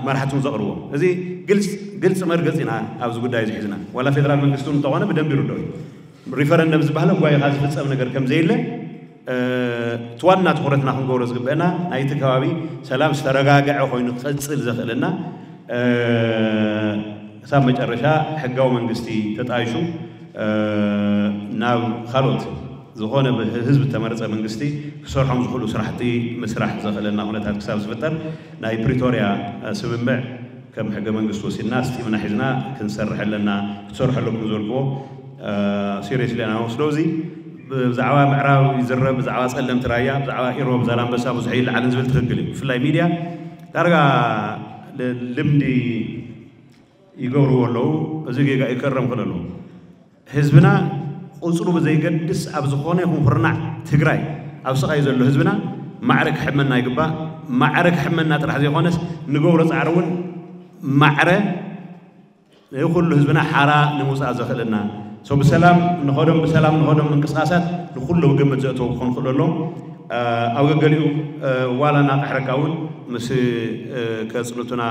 መራሕቲ እውን ዘቕርቦ እዚ ግልፂ መርገፂ ኢና ኣብዚ ጉዳይ እዚ ሒዝና ዋላ ፌደራል መንግስቲ እውን እንተኾነ ብደንቢ ይርድኦ እዩ። ሪፈረንደም ዝበሃል ጓይኻ ዝፍፀም ነገር ከም ዘየለ እቲ ዋና ትኹረትና ክንገብሮ ዝግበአና ናይቲ ከባቢ ሰላም ዝተረጋግዐ ኮይኑ ክቐፅል ዘኽእለና ክሳብ መጨረሻ ሕጋዊ መንግስቲ ተጣይሹ ናብ ካልኦት ዝኾነ ህዝቢ ተመረፀ መንግስቲ ክሰርሖም ዝኽእሉ ስራሕቲ ምስራሕ ዘኽእለና ኩነታት ክሳብ ዝፍጠር ናይ ፕሪቶርያ ስምምዕ ከም ሕገ መንግስቲ ወሲድና ስጢምና ሒዝና ክንሰርሕ ኣለና ክትሰርሑ ኣለኩም ዝበልክዎ ሲሪየስሊ ኢና ንወስዶ። እዚ ብዛዕባ ምዕራብ ይዝረብ፣ ብዛዕባ ፀለምቲ ራያ፣ ብዛዕባ ኢሮብ ዛላንበሳ ብዙሕ ይለዓልን ዝብል ትኽክል እዩ። ብፍላይ ሚድያ ዳርጋ ልምዲ ይገብርዎ ኣለዉ። እዚ ጌጋ ይከረም ክእል ኣለዉ። ህዝብና ቁፅሩ ብዘይገድስ ኣብ ዝኾነ ይኹን ኩርናዕ ትግራይ ኣብ ስቓይ ዘሎ ህዝብና ማዕረ ክሕመና ይግባእ። ማዕረ ክሕመና ጥራሕ ዘይኮነስ ንገብሮ ፃዕሪ እውን ማዕረ ንኩሉ ህዝብና ሓራ ንምውፃእ ዘኽእለና ሰው ብሰላም ንኸዶም ብሰላም ንኸዶም ምንቅስቃሳት ንኩሉ ግምት ዘእተው ክኾን ክእሉ ኣለዎም። ኣብ ገገሊኡ ዋላ እናቃሕረካ እውን ምስ ከፅልቱና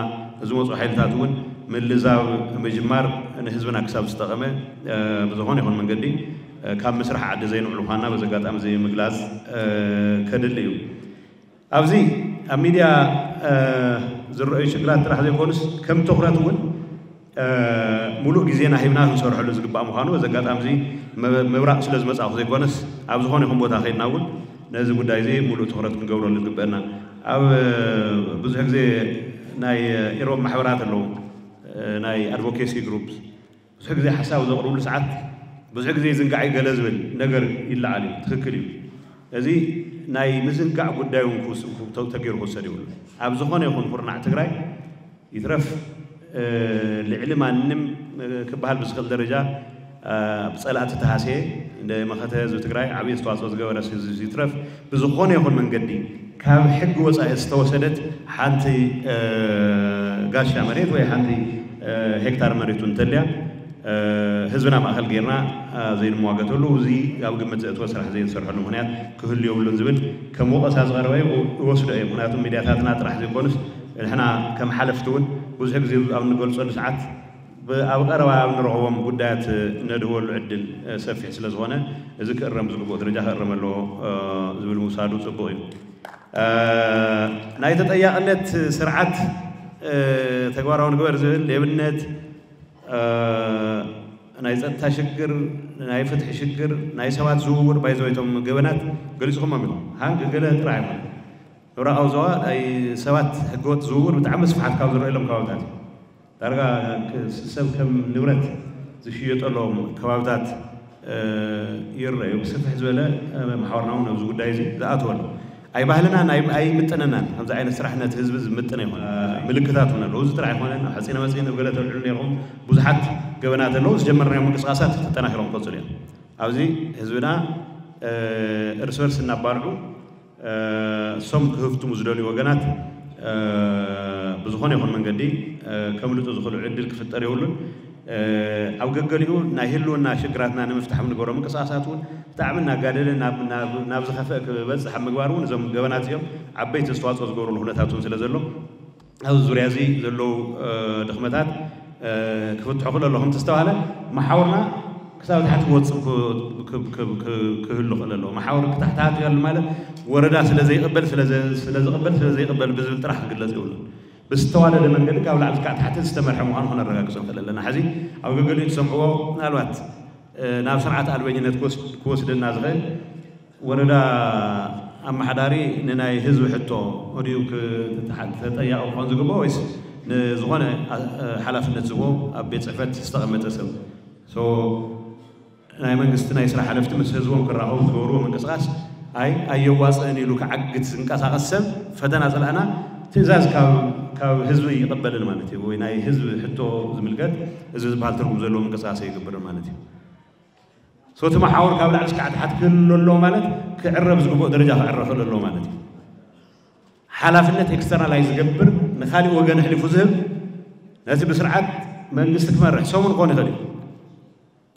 ዝመፁ ሓይልታት እውን ምልዛብ ምጅማር ንህዝብና ክሳብ ዝጠቐመ ብዝኾነ ይኹን መንገዲ ካብ ምስራሕ ዓዲ ዘይንውዕል ምዃንና በዚ ኣጋጣሚ እዚ ምግላፅ ከድሊ እዩ። ኣብዚ ኣብ ሚድያ ዝረኣዩ ሽግራት ጥራሕ ዘይኮኑስ ከም ትኹረት እውን ሙሉእ ግዜና ሂብና ክንሰርሐሉ ዝግባእ ምዃኑ በዚ ኣጋጣሚ እዚ ምብራቕ ስለ ዝመፃእኹ ዘይኮነስ ኣብ ዝኾነ ይኹን ቦታ ከይድና እውን ነዚ ጉዳይ እዚ ሙሉእ ትኹረት ክንገብረሉ ዝግበአና ኣብ ብዙሕ ግዜ ናይ ኢሮብ ማሕበራት ኣለዉ ናይ ኣድቮኬሲ ግሩፕ ብዙሕ ግዜ ሓሳብ ዘቕርብሉ ሰዓት ብዙሕ ግዜ ዝንጋዕ ገለ ዝብል ነገር ይለዓል እዩ። ትኽክል እዩ። እዚ ናይ ምዝንጋዕ ጉዳይ እውን ክውስ- ክው- ተገይሩ ክውሰድ ይብሉ። ኣብ ዝኾነ ይኹን ኩርናዕ ትግራይ ይትረፍ ልዕሊ ማንም ክበሃል ብዝኽእል ደረጃ ብፀላእቲ ተሃስየ ንመኸተ ህዝቢ ትግራይ ዓብዪ ኣስተዋፅኦ ዝገበረ ህዝቢ ይትረፍ ብዝኾነ ይኹን መንገዲ ካብ ሕጊ ወፃኢ ዝተወሰደት ሓንቲ ጋሻ መሬት ወይ ሓንቲ ሄክታር መሬት እውን እንተልያ ህዝብና ማእኸል ጌርና ዘይንሟገተሉ እዚ ኣብ ግምት ዘእትወ ስራሕ ዘይንሰርሐሉ ምኽንያት ክህሉ የብሉን ዝብል ከም ወቐሳ ዝቐረበ ይወስዶ እየ። ምክንያቱ ሚድያታትና ጥራሕ ዘይኮኑስ ንሕና ከም ሓለፍቲ እውን ብዙሕ ግዜ ኣብ እንገልፀሉ ሰዓት ኣብ ቀረባ ኣብ ንረኽቦም ጉዳያት ነድህበሉ ዕድል ሰፊሕ ስለ ዝኾነ እዚ ክእረም ዝግብኦ ደረጃ ክእረም ኣለዎ ዝብል ምውሳዱ ፅቡቕ እዩ። ናይ ተጠያቕነት ስርዓት ተግባራዊ ንግበር ዝብል ሌብነት ናይ ፀጥታ ሽግር፣ ናይ ፍትሒ ሽግር፣ ናይ ሰባት ዝውውር ባይዘወይቶም ገበናት ገሊፅኹሞም ኢኹም። ሃንግ ገለ ጥራሕ ኣይኮነ ምብራቃዊ ዞባ ናይ ሰባት ህገወጥ ዝውውር ብጣዕሚ ስፍሓት ካብ ዝረአሎም ከባብታት እዩ። ዳርጋ ሰብ ከም ንብረት ዝሽየጠሎም ከባብታት ይረዩ። ብስፍሕ ዝበለ መሓወርና እውን ኣብዚ ጉዳይ እዚ ዝኣተወሉ ኣይ ባህልና ኣይምጥነናን። ከምዚ ዓይነት ስራሕ ነቲ ህዝቢ ዝምጥነ ይኮነ ምልክታት እውን ኣለዉ። እዚ ጥራሕ ኣይኮነን። ኣብ ሓፂነ መፂን ኣብ ገለ ተልዕሉ ነይርኩም ብዙሓት ገበናት ኣለዉ። ዝጀመርናዮም ምንቅስቃሳት ተጠናኪሮም ክቐፅሉ እዮም። ኣብዚ ህዝብና እርስ በርስ እናባልዑ እሶም ክህፍትሙ ዝደልዩ ወገናት ብዝኾነ ይኹን መንገዲ ከምልጡ ዝኽእሉ ዕድል ክፍጠር የብሉን። ኣብ ገገሊኡ ናይ ህልውና ሽግራትና ንምፍታሕ ንገብሮ ምንቅስቃሳት እውን ብጣዕሚ እናጋደለ ናብ ዝኸፍአ ክበፅሕ ኣብ ምግባር እውን እዞም ገበናት እዚኦም ዓበይቲ ኣስተዋፅኦ ዝገብሩሉ ኩነታት እውን ስለ ዘሎ ኣብዚ ዙርያ እዚ ዘለዉ ድኽመታት ክፍትሑ ክእል ኣሎ። ከምቲ ዝተባሃለ መሓውርና ክሳብ ታሕቲ ክወፅእ ክህሉ ክእል ኣለዎ። መሓውር ክታሕታሃት ያሉ ማለት ወረዳ ስለ ዘይቕበል ስለ ዝቕበል ስለ ዘይቕበል ብዝብል ጥራሕ ክግለፅ ይብሉ። ብዝተዋደደ መንገዲ ካብ ላዕሊ ክሳዕ ታሕቲ ዝተመርሐ ምዃኑ ክነረጋግፅ ንኽእል ኣለና። ሕዚ ኣብ ገገሊኡ ትሰምዕዎ ምናልባት ናብ ስርዓት ኣልበኝነት ክወስደና ዝኽእል ወረዳ ኣመሓዳሪ ንናይ ህዝቢ ሕቶ ወዲኡ ተጠያቂ ክኾን ዝግብኦ ወይስ ንዝኾነ ሓላፍነት ዝቦ ኣብ ቤት ፅሕፈት ዝተቐመጠ ሰብ ናይ መንግስቲ ናይ ስራሕ ሓለፍቲ ምስ ህዝቦም ክራኸቡ ዝገብርዎ ምንቅስቃስ ኣይ ኣየዋፅእን ኢሉ ክዓግት ዝንቀሳቀስ ሰብ ፈተና ፅላእና ትእዛዝ ካብ ህዝቢ ይቕበልን ማለት እዩ ወይ ናይ ህዝቢ ሕቶ ዝምልከት እዚ ዝበሃል ትርጉም ዘለዎ ምንቅስቃስ ኣይገብርን ማለት እዩ። ሶቲ መሓውር ካብ ላዕሊ እስካዕ ታሕቲ ክህሉ ኣለዎ ማለት ክዕረብ ዝግብኦ ደረጃ ክዕረ ክእል ኣለዎ ማለት እዩ። ሓላፍነት ኤክስተርናላይ ዝገብር ንካሊእ ወገን ኣሕሊፉ ዝህብ ነቲ ብስርዓት መንግስቲ ክመርሕ ሰሙን ክኾን ይኽእል እዩ።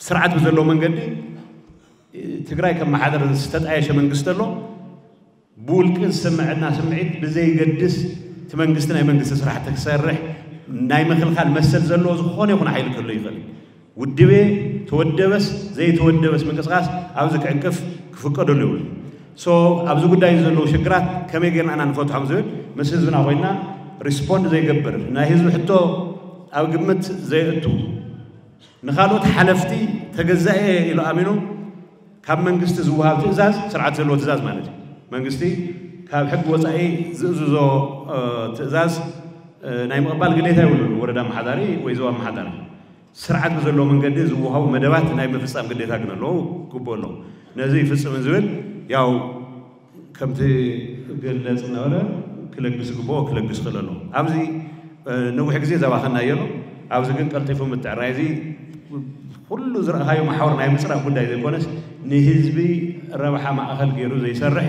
ስርዓት ብዘለዎ መንገዲ ትግራይ ከመሓደር ዝተጣየሸ መንግስቲ ኣሎ። ብውልቂ ዝስምዐና ስምዒት ብዘይገድስ እቲ መንግስቲ ናይ መንግስቲ ስራሕቲ ክሰርሕ ናይ ምክልካል መሰል ዘለዎ ዝኾነ ይኹን ሓይሊ ክህሉ ይኽእል። ውድቤ ተወደበስ ዘይተወደበስ ምንቅስቃስ ኣብዚ ክዕንቅፍ ክፍቀደሉ ይብሉ። ሶ ኣብዚ ጉዳይ ዘለዉ ሽግራት ከመይ ጌርና ኢና ንፈትሖም ዝብል ምስ ህዝብና ኮይና ሪስፖንድ ዘይገብር ናይ ህዝቢ ሕቶ ኣብ ግምት ዘየእቱ ንካልኦት ሓለፍቲ ተገዛኤ ኢሉ ኣሚኑ ካብ መንግስቲ ዝወሃብ ትእዛዝ ስርዓት ዘለዎ ትእዛዝ ማለት እዩ። መንግስቲ ካብ ሕጊ ወፃኢ ዝእዝዞ ትእዛዝ ናይ ምቕባል ግዴታ ይብሉን ወረዳ ኣመሓዳሪ ወይ ዞባ ኣመሓዳሪ ስርዓት ብዘለዎ መንገዲ ዝወሃቡ መደባት ናይ ምፍፃም ግዴታ ግን ኣለዎ ክግብኦ ኣለዎ። ነዚ ይፍፅምን ዝብል ያው ከምቲ ግለፅ ነበረ ክለግስ ግብኦ ክለግስ ክእል ኣለዎ። ኣብዚ ነዊሕ ግዜ ዘባኸና እየሎ ኣብዚ ግን ቀልጢፉ ምትዕራይ እዚ ኩሉ ዝረእኻዮ መሓወር ናይ ምፅራፍ ጉዳይ ዘይኮነስ ንህዝቢ ረብሓ ማእኸል ገይሩ ዘይሰርሕ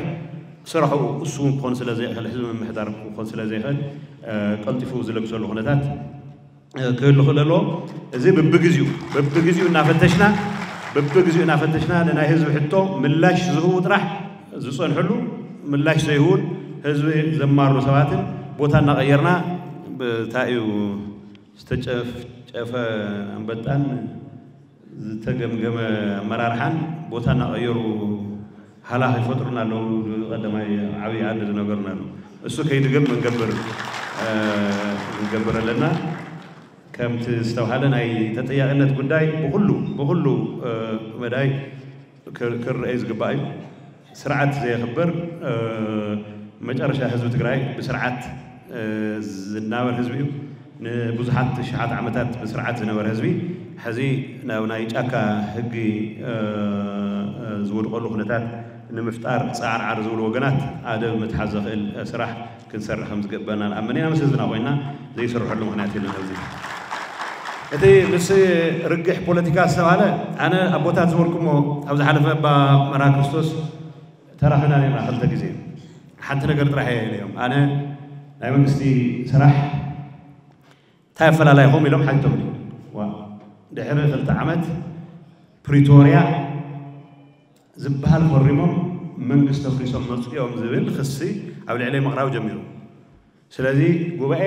ስራሑ እሱ እውን ክኾን ስለ ዘይኽእል ህዝቢ ምምሕዳር ክኾን ስለ ዘይኽእል ቀልጢፉ ዝለግሰሉ ኩነታት ክህሉ ክእል ኣለዎ። እዚ ብብግዚኡ ብብግዚኡ እናፈተሽና ብብግዚኡ እናፈተሽና ንናይ ህዝቢ ሕቶ ምላሽ ዝህቡ ጥራሕ ዝፀንሕሉ ምላሽ ዘይህቡን ህዝቢ ዘማሩ ሰባትን ቦታ እናቐየርና ብታይ እዩ ዝተጨፍጨፈ ኣንበጣን ዝተገምገመ ኣመራርሓን ቦታ እናቐየሩ ሃላኽ ይፈጥሩና ኣለዉ። ቀዳማይ ዓብዪ ዓዲ ዝነገሩና ኣለዉ። እሱ ከይድገም መንገብር ንገብር ኣለና። ከምቲ ዝተባሃለ ናይ ተጠያቂነት ጉዳይ ብኩሉ ብኩሉ መዳይ ክረአይ ዝግባእ እዩ። ስርዓት ዘየኽብር መጨረሻ ህዝቢ ትግራይ ብስርዓት ዝናበር ህዝቢ እዩ። ንብዙሓት ሽሓት ዓመታት ብስርዓት ዝነበረ ህዝቢ ሕዚ ናብ ናይ ጫካ ህጊ ዝወድቀሉ ኩነታት ንምፍጣር ጻዕርዓር ዝብሉ ወገናት ኣደብ ምትሓዝ ዘኽእል ስራሕ ክንሰርሕ ከም ዝግበና ንኣምን ኢና። ምስ ህዝብና ኮይና ዘይስርሐሉ ምኽንያት የለን። ኣብዚ እቲ ምስ ርግሕ ፖለቲካ ዝተባህለ ኣነ ኣቦታት ዝበልኩሞ ኣብ ዝሓለፈ ኣባ መርሃ ክርስቶስ ተራኺብና ነርና ክልተ ግዜ። ሓንቲ ነገር ጥራሕ እየ ኢለዮም። ኣነ ናይ መንግስቲ ስራሕ እንታይ ኣፈላላይኹም ኢሎም ሓቲቶምኒ። ዋ፣ ድሕሪ ክልተ ዓመት ፕሪቶርያ ዝበሃል ፈሪሞም መንግስቲ ኣፍሪሶም መፅኦም ዝብል ክሲ ኣብ ልዕለይ ምቕራብ ጀሚሩ። ስለዚ ጉባኤ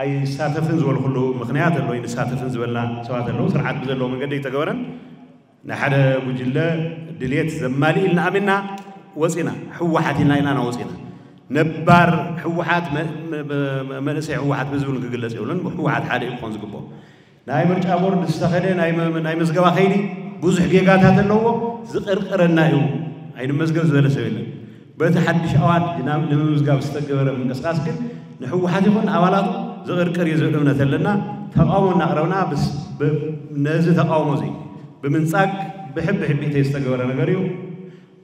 ኣይሳተፍን ዝበልኩሉ ምኽንያት ኣሎ። ኣይንሳተፍን ዝበልና ሰባት ኣለዉ። ስርዓት ብዘለዎ መንገዲ ኣይተገበረን። ንሓደ ጉጅለ ድልየት ዘማልእ ኢልና ኣሚንና ወፂና። ህወሓት ኢልና ኢና ወፂና። ነባር ህወሓት መ- መ- መ- መንእሰይ ህወሓት ብዝብል ክግለፅ የብሉን። ህወሓት ሓደ እዩ ክኾን ዝግብኦ። ናይ ምርጫ ቦርድ ዝተኸደ ናይ መ- ናይ ምዝገባ ከይዲ ብዙሕ ጌጋታት ኣለዎ። ዝቕርቅረና እዩ። ኣይንመዝገብ ዝበለ ሰብ የለን። በቲ ሓድሽ ኣዋጅ ናብ ንምምዝጋብ ዝተገበረ ምንቅስቃስ ግን ንህወሓት ይኹን ኣባላቱ ዝቕርቅር እዩ ዝብል እምነት ኣለና። ተቃውሞ እናቕረብና ብስ- ብ- ነዚ ተቃውሞ እዚ ብምንጻግ ብሕቢ ሕቢእተይ ዝተገበረ ነገር እዩ።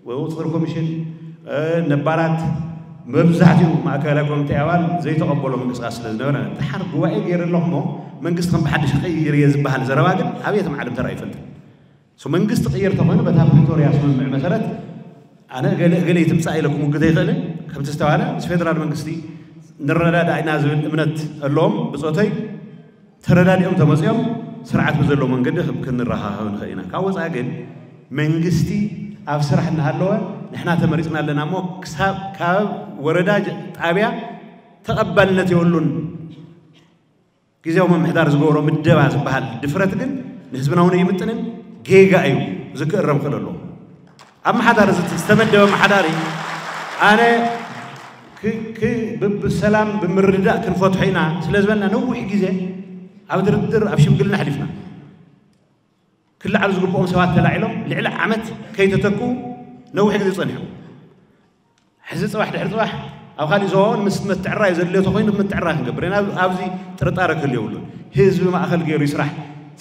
ወይ ቁፅፅር ኮሚሽን ነባራት መብዛሕትኡ ማእከላይ ኮሚቴ ኣባል ዘይተቐበሎ ምንቅስቃስ ስለ ዝነበረ፣ ድሓር ጉባኤ ገይረ ኣለኹ እሞ መንግስቲ ከም ብሓድሽ ክቕይር እየ ዝበሃል ዘረባ ግን ኣብ የትም ዓለም ተራእዩ ይፈልጥ። መንግስቲ ቅይር ተኾይኑ በታ ፕሪቶርያ ስምምዕ መሰረት ኣነ እገለ እገለ ይትምፃእ ኢለ ክሙግት ኣይኽእልን። ከምቲ ዝተባህለ ምስ ፌደራል መንግስቲ ንረዳዳእ ኢና ዝብል እምነት ኣለዎም ብፆተይ። ተረዳዲኦም ተመፅኦም ስርዓት ብዘለዎ መንገዲ ክንረኻኸብ ንኽእል ኢና። ካብ ወፃኢ ግን መንግስቲ ኣብ ስራሕ እናሃለወ ንሕና ተመሪፅና ኣለና እሞ ክሳብ ካብ ወረዳ ጣብያ ተቐባልነት የብሉን። ግዜያዊ ምምሕዳር ዝገብሮ ምደባ ዝበሃል ድፍረት ግን ንህዝብና እውን ኣይምጥንን፣ ጌጋ እዩ፣ እዚ ክእረም ክእል ኣለዎ። ኣመሓዳሪ ዝተመደበ ኣመሓዳሪ ኣነ ብሰላም ብምርድዳእ ክንፈትሖ ኢና ስለ ዝበልና ነዊሕ ግዜ ኣብ ድርድር ኣብ ሽምግልና ኣሕሊፍና። ክለዓሉ ዝግብኦም ሰባት ተላዒሎም ልዕሊ ዓመት ከይተተክኡ ነዊሕ ግዜ ጸኒሖም። ሕዚ ጽባሕ ድሕሪ ጽባሕ ኣብ ካሊእ ዞባ እውን ምስ ምትዕራይ ዘድልዮ ተኾይኑ ምትዕራይ ክንገብር ኢና። ኣብዚ ጥርጣረ ክህሉ የብሉን። ህዝቢ ማእኸል ገይሩ ይስራሕ።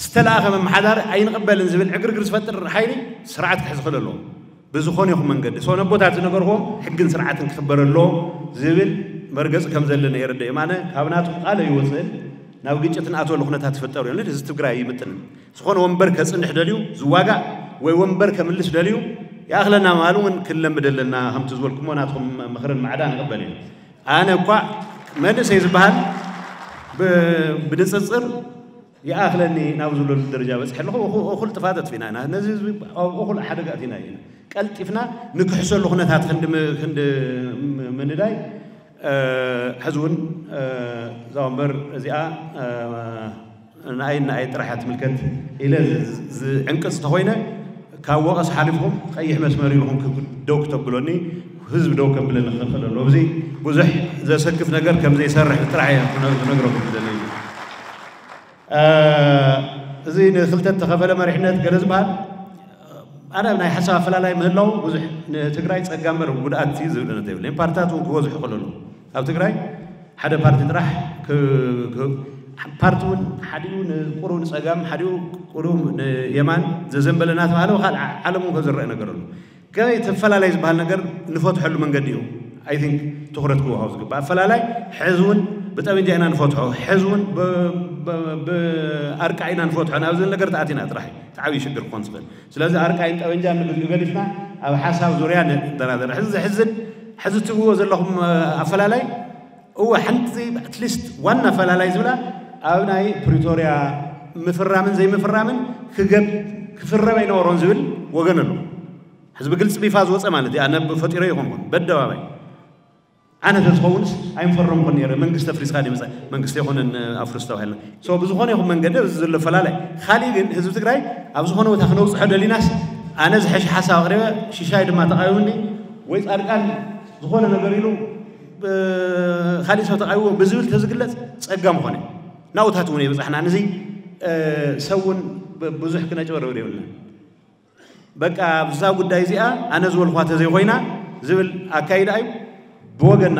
ዝተላእኸ መመሓዳሪ ኣይንቕበልን ዝብል ዕግርግር ዝፈጥር ሓይሊ ስርዓት ክሕዝ ክእል ኣለዎ። ብዝኾነ ይኹን መንገዲ ሰው ነቦታት ዝነገርዎም ሕግን ስርዓትን ክኽበር ኣለዎ ዝብል መርገፂ ከም ዘለና የረድእ። ኣነ ካብ ናቱ ቃል ኣይወፅእን። ናብ ግጭት ንኣትወሉ ኩነታት ዝፍጠሩ እዮም። ህዝቢ ትግራይ ይምጥን። ዝኾነ ወንበር ከፅንሕ ደልዩ ዝዋጋእ ወይ ወንበር ከምልስ ደልዩ ይኣኽለና ምባሉ እውን ክንለምድ ኣለና። ከምቲ ዝበልኩሞ ናትኩም ምኽርን ማዕዳ ንቕበል እዩ። ኣነ እኳ መንእሰይ ዝበሃል ብንፅፅር ይኣኽለኒ ናብ ዝብለሉ ደረጃ በፅሐ ኣለኹ። እኹል ጥፋት ኣጥፊና ኢና። ነዚ ህዝቢ ኣብ እኹል ሓደጋ ኣቲና ኢና። ቀልጢፍና ንክሕሰሉ ኩነታት ክንዲ ምንዳይ ሕዚ እውን እዛ ወንበር እዚኣ ንኣይ ንኣይ ጥራሕ ትምልከት ኢለ ዝዕንቅፅ ተኮይነ ካብ ወቐስ ሓሊፍኩም ቀይሕ መስመር ኢልኩም ደው ክተብሎኒ ህዝብ ደው ከብለኒ ክኽእል ኣሎ። እዚ ብዙሕ ዘሰክፍ ነገር ከም ዘይሰርሕ ጥራሕ እየ ክነግረኩም ዝደለዩ። እዚ ንክልተ ተኸፈለ መሪሕነት ገለ ዝበሃል ኣነ ናይ ሓሳብ ኣፈላላይ ምህላው ብዙሕ ንትግራይ ፀጋ እምበር ጉድኣት እዩ ዝብል እምነት የብለይን። ፓርትታት እውን ክበዝሑ ክእለሉ ኣብ ትግራይ ሓደ ፓርቲ ጥራሕ ፓርቲ እውን ሓዲኡ ንቁሩብ ንፀጋም ሓዲኡ ቁሩብ ንየማን ዘዘንበለ እናተባሃለ ካልእ ዓለም እውን ከም ዝረአ ነገር ኣሎ። ከመይ እቲ ኣፈላላይ ዝበሃል ነገር ንፈትሐሉ መንገዲ እዩ። ኣይ ቲንክ ትኹረት ክወሃቦ ዝግባእ ኣፈላላይ ሕዚ እውን ብጠበንጃ ኢና ንፈትሖ፣ ሕዚ እውን ብኣርቃ ኢና ንፈትሖ ናብ ዝብል ነገር ተኣቲና ጥራሕ እዩ እቲ ዓብዪ ሽግር ክኾን ዝኽእል። ስለዚ ኣርቃይን ጠበንጃን ንግዜኡ ገዲፍና ኣብ ሓሳብ ዙርያ ንደራደር። ሕዚ ዘሕዝን ሕዚ ትብልዎ ዘለኹም ኣፈላላይ እወ ሓንቲ ኣትሊስት ዋና ኣፈላላይ ዝብላ ኣብ ናይ ፕሪቶርያ ምፍራምን ዘይምፍራምን ክገብ ክፍረም ኣይነበሮን ዝብል ወገን ኣሎ። ሕዚ ብግልፂ ቢፋ ዝወፀ ማለት እዩ። ኣነ ፈጢሮ ይኾንኩን በደባባይ ኣነ ተዝኸውንስ ኣይምፈረምኩን ነይረ። መንግስቲ ኣፍሪስካ ድምፀ መንግስቲ ኣይኮነን ኣፍርስ ተባሂልና። ሶ ብዝኾነ ይኹን መንገዲ እዚ ዘሎ ፈላለይ ካሊእ ግን ህዝቢ ትግራይ ኣብ ዝኾነ ቦታ ክነውፅሖ ደሊናስ ኣነ ዝሐሸ ሓሳብ ኣቕሪበ ሽሻይ ድማ ተቃዊሙኒ ወይ ፃድቃን ዝኾነ ነገር ኢሉ ካልእ ሰብ ተቃዊሞ ብዝብል ተዝግለፅ ፀጋ ምኾነ ናውታት እውን የብፃሕና። ንዚ ሰብ እውን ብዙሕ ክነጭበረብር የብልና። በቃ ኣብዛ ጉዳይ እዚኣ ኣነ ዝበልኳ ተዘይኮይና ዝብል ኣካይዳ እዩ። ብወገና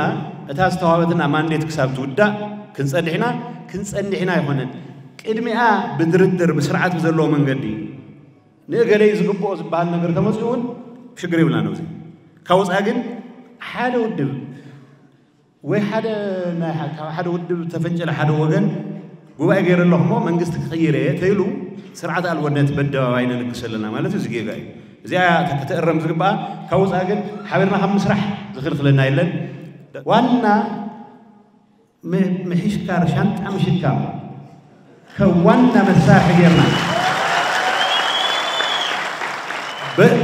እታ ዝተዋበትና ማንዴት ክሳብ ትውዳእ ክንፀንሕ ኢና። ክንፀንሕ ኢና ኣይኮነን ቅድሚኣ ብድርድር ብስርዓት ብዘለዎ መንገዲ ንእገለይ ዝግብኦ ዝበሃል ነገር ተመፅኡ እውን ሽግር የብልና ነዚ ካብ ወፃኢ ግን ሓደ ውድብ ወይ ሓደ ናይ ሓደ ውድብ ተፈንጨለ ሓደ ወገን ጉባኤ ገይረ ኣለኹ እሞ መንግስቲ ክቕይር እየ ተይሉ ስርዓት ኣልቦነት በደባባይ ነንግስ ኣለና ማለት እዚ ጌጋ እዩ። እዚኣ ክትእረም ዝግባኣ ካብ ወፃኢ ግን ሓቢርና ካብ ምስራሕ ዝኽልክለና የለን። ዋና ምሕሽካር ሻንጣ ምሽካም ከም ዋና መሳርሒ ጌርና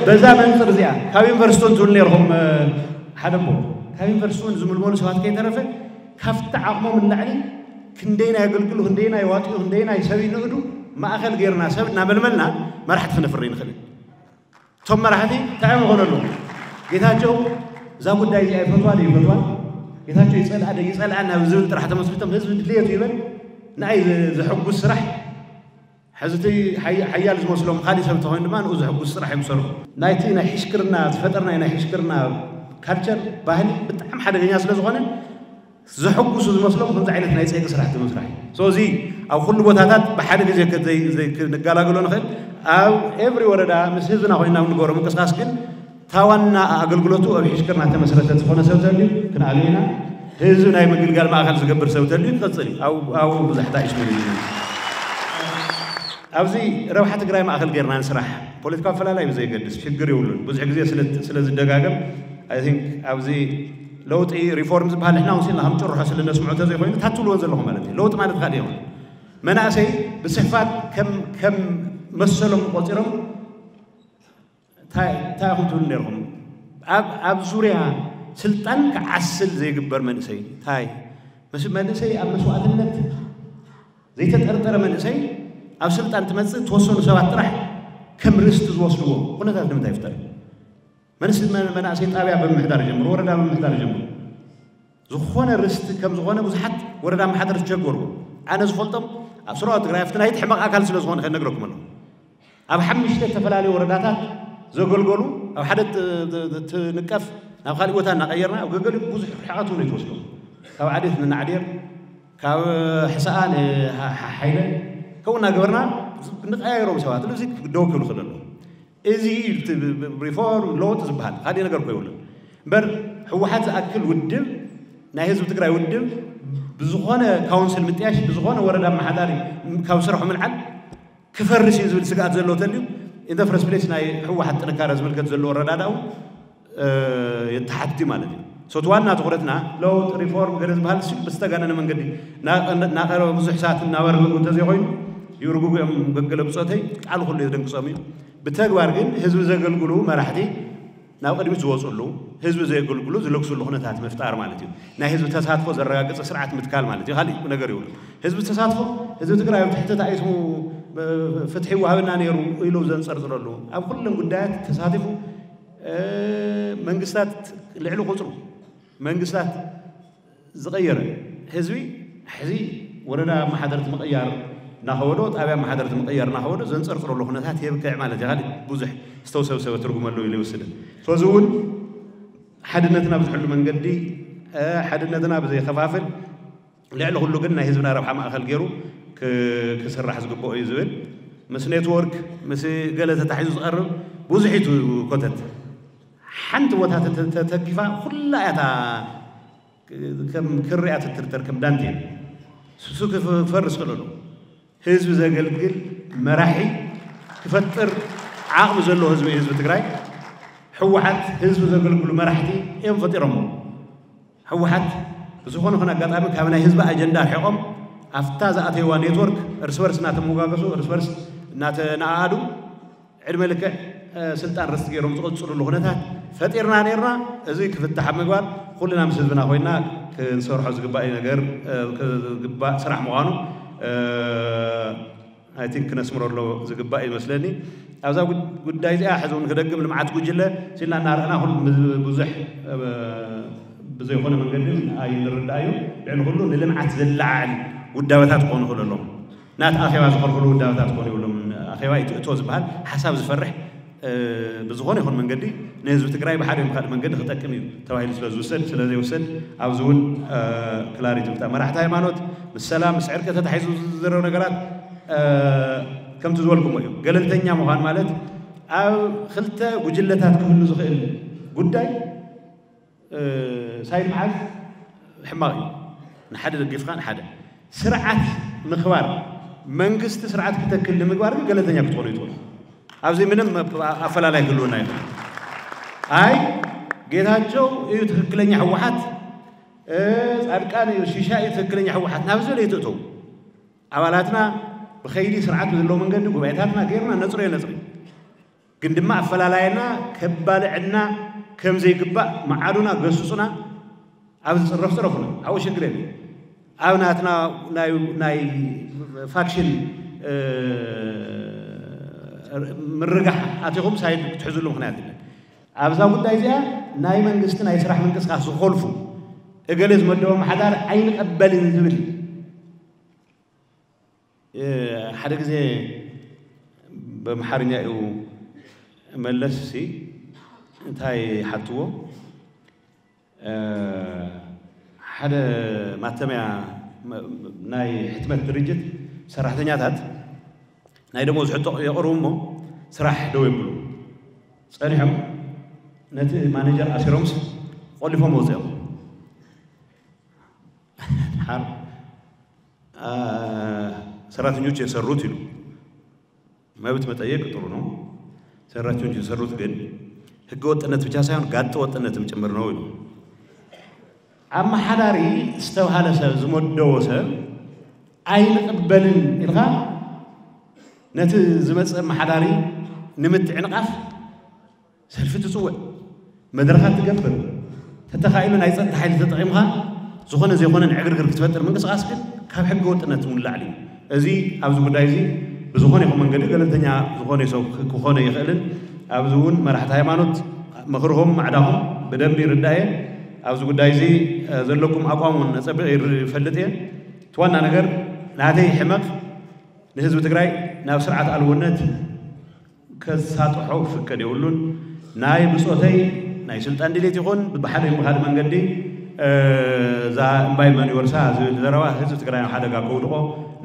በዛ መንፅር እዚኣ ካብ ዩኒቨርሲቲ እንትብል ነርኹም ሓደ ቦ ካብ ዩኒቨርሲቲ እውን ዝምልመሉ ሰባት ከይተረፈ ካብቲ ዓቕሞም ንላዕሊ ክንደይና የገልግሉ ክንደይና ይዋጥዩ ክንደይና ይሰብ ይንእዱ ማእኸል ጌርና ሰብ እናመልመልና መራሕቲ ክነፍሪ ንኽእል። እቶም መራሕቲ እንታይ እዮም ዝኾነሉ? ጌታቸው እዛ ጉዳይ እዚኣ ይፈትዋ ዶ ይፈትዋ? ጌታቸው ይፀልኣ ዶ ይፀልኣና ብዝብል ጥራሕ ተመስሪቶም ህዝቢ ድልየቱ ይበል ንኣይ ዘሐጉስ ስራሕ ሕዚ እቲ ሓያል ዝመስሎም ካሊእ ሰብ ተኾይኑ ድማ ንኡ ዘሐጉስ ስራሕ እዮም ዝሰርሑ። ናይቲ ናይ ሕሽክርና ዝፈጠርናዮ ናይ ሕሽክርና ካልቸር ባህሊ ብጣዕሚ ሓደገኛ ስለ ዝኾነ ዘሐጉሱ ዝመስሎም ከምዚ ዓይነት ናይ ፀይቂ ስራሕቲ ምስራሕ እዩ። So እዚ ኣብ ኩሉ ቦታታት ብሓደ ግዜ ክንገላገሎ ንኽእል ኣብ every ወረዳ ምስ ህዝብና ኮይና ንገሮ ምንቅስቃስ ግን እታ ዋና ኣገልግሎቱ ኣብ ሕሽክርና ተመስረተ ዝኾነ ሰብ ተልዩ ክንኣሉ ኢና። ህዝቢ ናይ ምግልጋል ማእኸል ዝገብር ሰብ ተልዩ ክቐፅል እዩ። ኣብኡ ብዙሕ ታይሽ ምንል ኣብዚ ረብሓ ትግራይ ማእኸል ጌርና ንስራሕ ፖለቲካዊ ኣፈላላይ ብዘየገድስ ሽግር የብሉን። ብዙሕ ግዜ ስለ ዝደጋገም I think ኣብዚ ለውጢ ሪፎርም ዝበሃል ንሕና ውሲልና ከም ጭርሖ ስለ ነስምዖ ተዘይኮይኑ ታትብልዎን ዘለኹም ማለት እዩ። ለውጢ ማለት ካልእ ይኹን መናእሰይ ብስሕፋት ከም መሰሎም ቆፂሮም እንታይ ኢኹም ትብሉ ነርኹም? ኣብ ዙርያ ስልጣን ክዓስል ዘይግበር መንእሰይ እንታይ መንእሰይ ኣብ መስዋእትነት ዘይተጠርጠረ መንእሰይ ኣብ ስልጣን ትመፅእ ተወሰኑ ሰባት ጥራሕ ከም ርስቲ ዝወስድዎ ኩነታት ንምንታይ ይፍጠር? መንእሰይ ጣብያ ብምሕዳር ይጀምሩ፣ ወረዳ ብምሕዳር ይጀምሩ። ዝኾነ ርስቲ ከም ዝኾነ ብዙሓት ወረዳ ኣመሓደርቲ ዝቸገሩ ኣነ ዝፈልጦም ኣብ ስራዋ ትግራይ ኣብቲ ናይቲ ሕመቕ ኣካል ስለ ዝኾነ ከነግረኩም ኣለኹ። ኣብ ሓሙሽተ ዝተፈላለዩ ወረዳታት ዘገልገሉ ኣብ ሓደ ትንቀፍ ናብ ካሊእ ቦታ እናቀየርና ኣብ ገገሊኡ ብዙሕ ርሕቀት እውን ኣይትወስዶም። ካብ ዓዴት ንናዕዴር ካብ ሕሰኣ ንሓይለ ከምኡ እናገበርና ንቀያይሮም ሰባት እዚ ደው ክብል ክእል ኣለዎ። እዚ ሪፎርም ለውጥ ዝበሃል ካልእ ነገር እኮ የብሉን። እምበር ህወሓት ዝኣክል ውድብ ናይ ህዝቢ ትግራይ ውድብ ብዝኾነ ካውንስል ምጥያሽ ብዝኾነ ወረዳ ኣመሓዳሪ ካብ ስርሑ ምልዓል ክፈርስ እዩ ዝብል ስግኣት ዘለዎ ተልዩ ኢንተፍረስ ፕሌስ ናይ ህወሓት ጥንካረ ዝምልከት ዘሎ ኣረዳድኣ እውን የተሓትት ማለት እዩ። ሶቲ ዋና ትኹረትና ለውጥ ሪፎርም ገለ ዝበሃል ሲ ብዝተጋነነ መንገዲ ናቀረበ ብዙሕ ሰዓት እናበርግጉ እንተዘይኮይኑ ይርጉጉ እዮም። ገገለ ብፆተይ ቃል ኩሉ የደንቅፆም እዩ። ብተግባር ግን ህዝቢ ዘገልግሉ መራሕቲ ናብ ቅድሚት ዝወፅሉ ህዝቢ ዘየገልግሉ ዝለግስሉ ኩነታት ምፍጣር ማለት እዩ። ናይ ህዝቢ ተሳትፎ ዘረጋግፀ ስርዓት ምትካል ማለት እዩ። ካሊእ ነገር ይብሉ ህዝቢ ተሳትፎ ህዝቢ ትግራይ ኣብ ትሕቲ ታይስሙ ፍትሒ ይወሃበና ነይሩ ኢሉ ዘንፀርፅረሉ ኣብ ኩለን ጉዳያት ተሳቲፉ መንግስታት ልዕሊ ቁፅሩ መንግስታት ዝቐየረ ህዝቢ ሕዚ ወረዳ ኣመሓደርቲ ምቕያር እናኸበዶ ጣብያ ኣመሓደርቲ ምቕያር እናኸበዶ ዘንፀርፅረሉ ኩነታት የብቅዕ ማለት እዩ። ካልእ ብዙሕ ዝተውሰብሰበ ትርጉም ኣለዎ ኢሉ ይወስድን። ስለዚ እውን ሓድነትና ብዝሕሉ መንገዲ ሓድነትና ብዘይከፋፍል ልዕሊ ኩሉ ግን ናይ ህዝብና ረብሓ ማእኸል ገይሩ ክስራሕ ዝግብኦ እዩ ዝብል ምስ ኔትወርክ ምስ ገለ ተታሒዙ ዝቐርብ ብዙሕ እዩ ኮተት ሓንቲ ቦታ ተተኪፋ ኩላ እያታ ከም ክርያ ትትርተር ከም ዳንቴል ስሱ ክፈርስ ክእለሉ ህዝቢ ዘገልግል መራሒ ክፈጥር ዓቕሚ ዘለዎ ህዝቢ ህዝቢ ትግራይ ህወሓት ህዝቢ ዘገልግሉ መራሕቲ እዮም ፈጢሮሞ። ህወሓት ብዝኾነ ኾነ ኣጋጣሚ ካብ ናይ ህዝቢ ኣጀንዳ ርሒቖም ኣብታ ዝኣተይዋ ኔትወርክ እርስ በርስ እናተመጓገሱ እርስ በርስ እናተነኣኣዱ ዕድመ ልክዕ ስልጣን ርስቲ ገይሮም ዝቐፅሉሉ ኩነታት ፈጢርና ነርና። እዚ ክፍታሕ ኣብ ምግባር ኩልና ምስ ህዝብና ኮይና ክንሰርሖ ዝግባእ ነገር ዝግባእ ስራሕ ምዃኑ ኣይቲንክ ክነስምረሎ ዝግባእ ይመስለኒ። ኣብዛ ጉዳይ እዚኣ ሕዚ እውን ክደግም ልምዓት ጉጅለ ሲልና እናረእና ኩሉ ብዙሕ ብዘይኮነ መንገዲ ኣይንርዳእ እዩ። ልዕሊ ኩሉ ንልምዓት ዘለዓዕል ውዳበታት ክኾኑ ክእሉ ኣለዎም። ናቲ ኣኼባ ዝኸልክሉ ውዳበታት ክኾኑ ይብሎም። ኣኼባ ይትእቶ ዝበሃል ሓሳብ ዝፈርሕ ብዝኾነ ይኹን መንገዲ ንህዝቢ ትግራይ ብሓደ ይኹን ካልእ መንገዲ ክጠቅም እዩ ተባሂሉ ስለ ዝውሰድ ስለ ዘይውሰድ ኣብዚ እውን ክላሪቲ ብታ መራሕቲ ሃይማኖት ምስ ሰላም ምስ ዕርቂ ተታሒዙ ዝዝረብ ነገራት ከምቲ ዝበልኩሞ እዩ። ገለልተኛ ምዃን ማለት ኣብ ክልተ ጉጅለታት ክህሉ ዝኽእል ጉዳይ ሳይድ መዓዝ ሕማቕ እዩ። ንሓደ ደጊፍካ ንሓደ ስርዓት ምኽባር መንግስቲ ስርዓት ክተክል ንምግባር ግን ገለልተኛ ክትኾኑ ይትኽእሉ። ኣብዚ ምንም ኣፈላላይ ክህልወና ይኽእል። ኣይ ጌታቸው እዩ ትኽክለኛ ህወሓት፣ ጻድቃን እዩ ሽሻ እዩ ትኽክለኛ ህወሓት ናብ ዝበለ ይትእተው። ኣባላትና ብኸይዲ ስርዓት ብዘለዎ መንገዲ ጉባኤታትና ገይርና ነፅሮ የነፅሪ። ግን ድማ ኣፈላላየና ከባልዕና ከም ዘይግባእ መዓዱና ገስጹና። ኣብ ዝጽረፍ ጽረፉና ኣብኡ ሽግር የለ። ኣብ ናትና ናይ ፋክሽን ምርጋሕ ኣቲኹም ሳይድ ክትሕዝሉ ምክንያት የለን። ኣብዛ ጉዳይ እዚኣ ናይ መንግስቲ ናይ ስራሕ ምንቅስቃስ ዝኮልፉ እገሌ ዝመደቦ ማሓዳር ኣይንቀበልን ዝብል ሓደ ግዜ በምሓርኛ እዩ መለስ ሲ እንታይ ሓትዎ ሓደ ማተሚያ ናይ ሕትመት ድርጅት ሰራሕተኛታት ናይ ደሞዝ ሕቶ የቕርቡ እሞ ስራሕ ደው ይብሉ ጸኒሖም ነቲ ማኔጀር ኣሲሮምስ ቆሊፎም ወፅኦም ሓር ሰራተኞች የሰሩት ይሉ መብት መጠየቅ ጥሩ ነው። ሰራተኞች የሰሩት ግን ህገ ወጥነት ብቻ ሳይሆን ጋጠ ወጥነትም ጭምር ነው ይሉ። ኣመሓዳሪ ዝተባሃለ ሰብ ዝመደቦ ሰብ ኣይንቕበልን ኢልካ ነቲ ዝመፅእ ኣመሓዳሪ ንምትዕንቓፍ ሰልፊ ትፅውዕ፣ መድረኻት ትገብር፣ ተተኻኢሉ ናይ ፀጥታ ሓይሊ ተጠቒምካ ዝኾነ ዘይኮነ ዕግርግር ክትፈጥር ምንቅስቃስ ግን ካብ ሕገ ወጥነት እውን ላዕሊ እዩ። እዚ ኣብዚ ጉዳይ እዚ ብዝኾነ ይኹን መንገዲ ገለልተኛ ዝኾነ ሰብ ክኾነ ይኽእልን ኣብዚ እውን መራሕቲ ሃይማኖት ምኽርኹም ማዕዳኹም ብደንቢ ይርዳእ እየ። ኣብዚ ጉዳይ እዚ ዘለኩም ኣቋም እውን ነፀብቕ ይፈልጥ እየ። እቲ ዋና ነገር ናተይ ሕመቕ ንህዝቢ ትግራይ ናብ ስርዓት ኣልቦነት ከሳጥሖ ክፍቀድ የብሉን። ናይ ብፆተይ ናይ ስልጣን ድሌት ይኹን ብሓደ ብኻልእ መንገዲ እዛ እምባይ መን ይወርሳ ዝብል ዘረባ ህዝቢ ትግራይ ናብ ሓደጋ ከውድቆ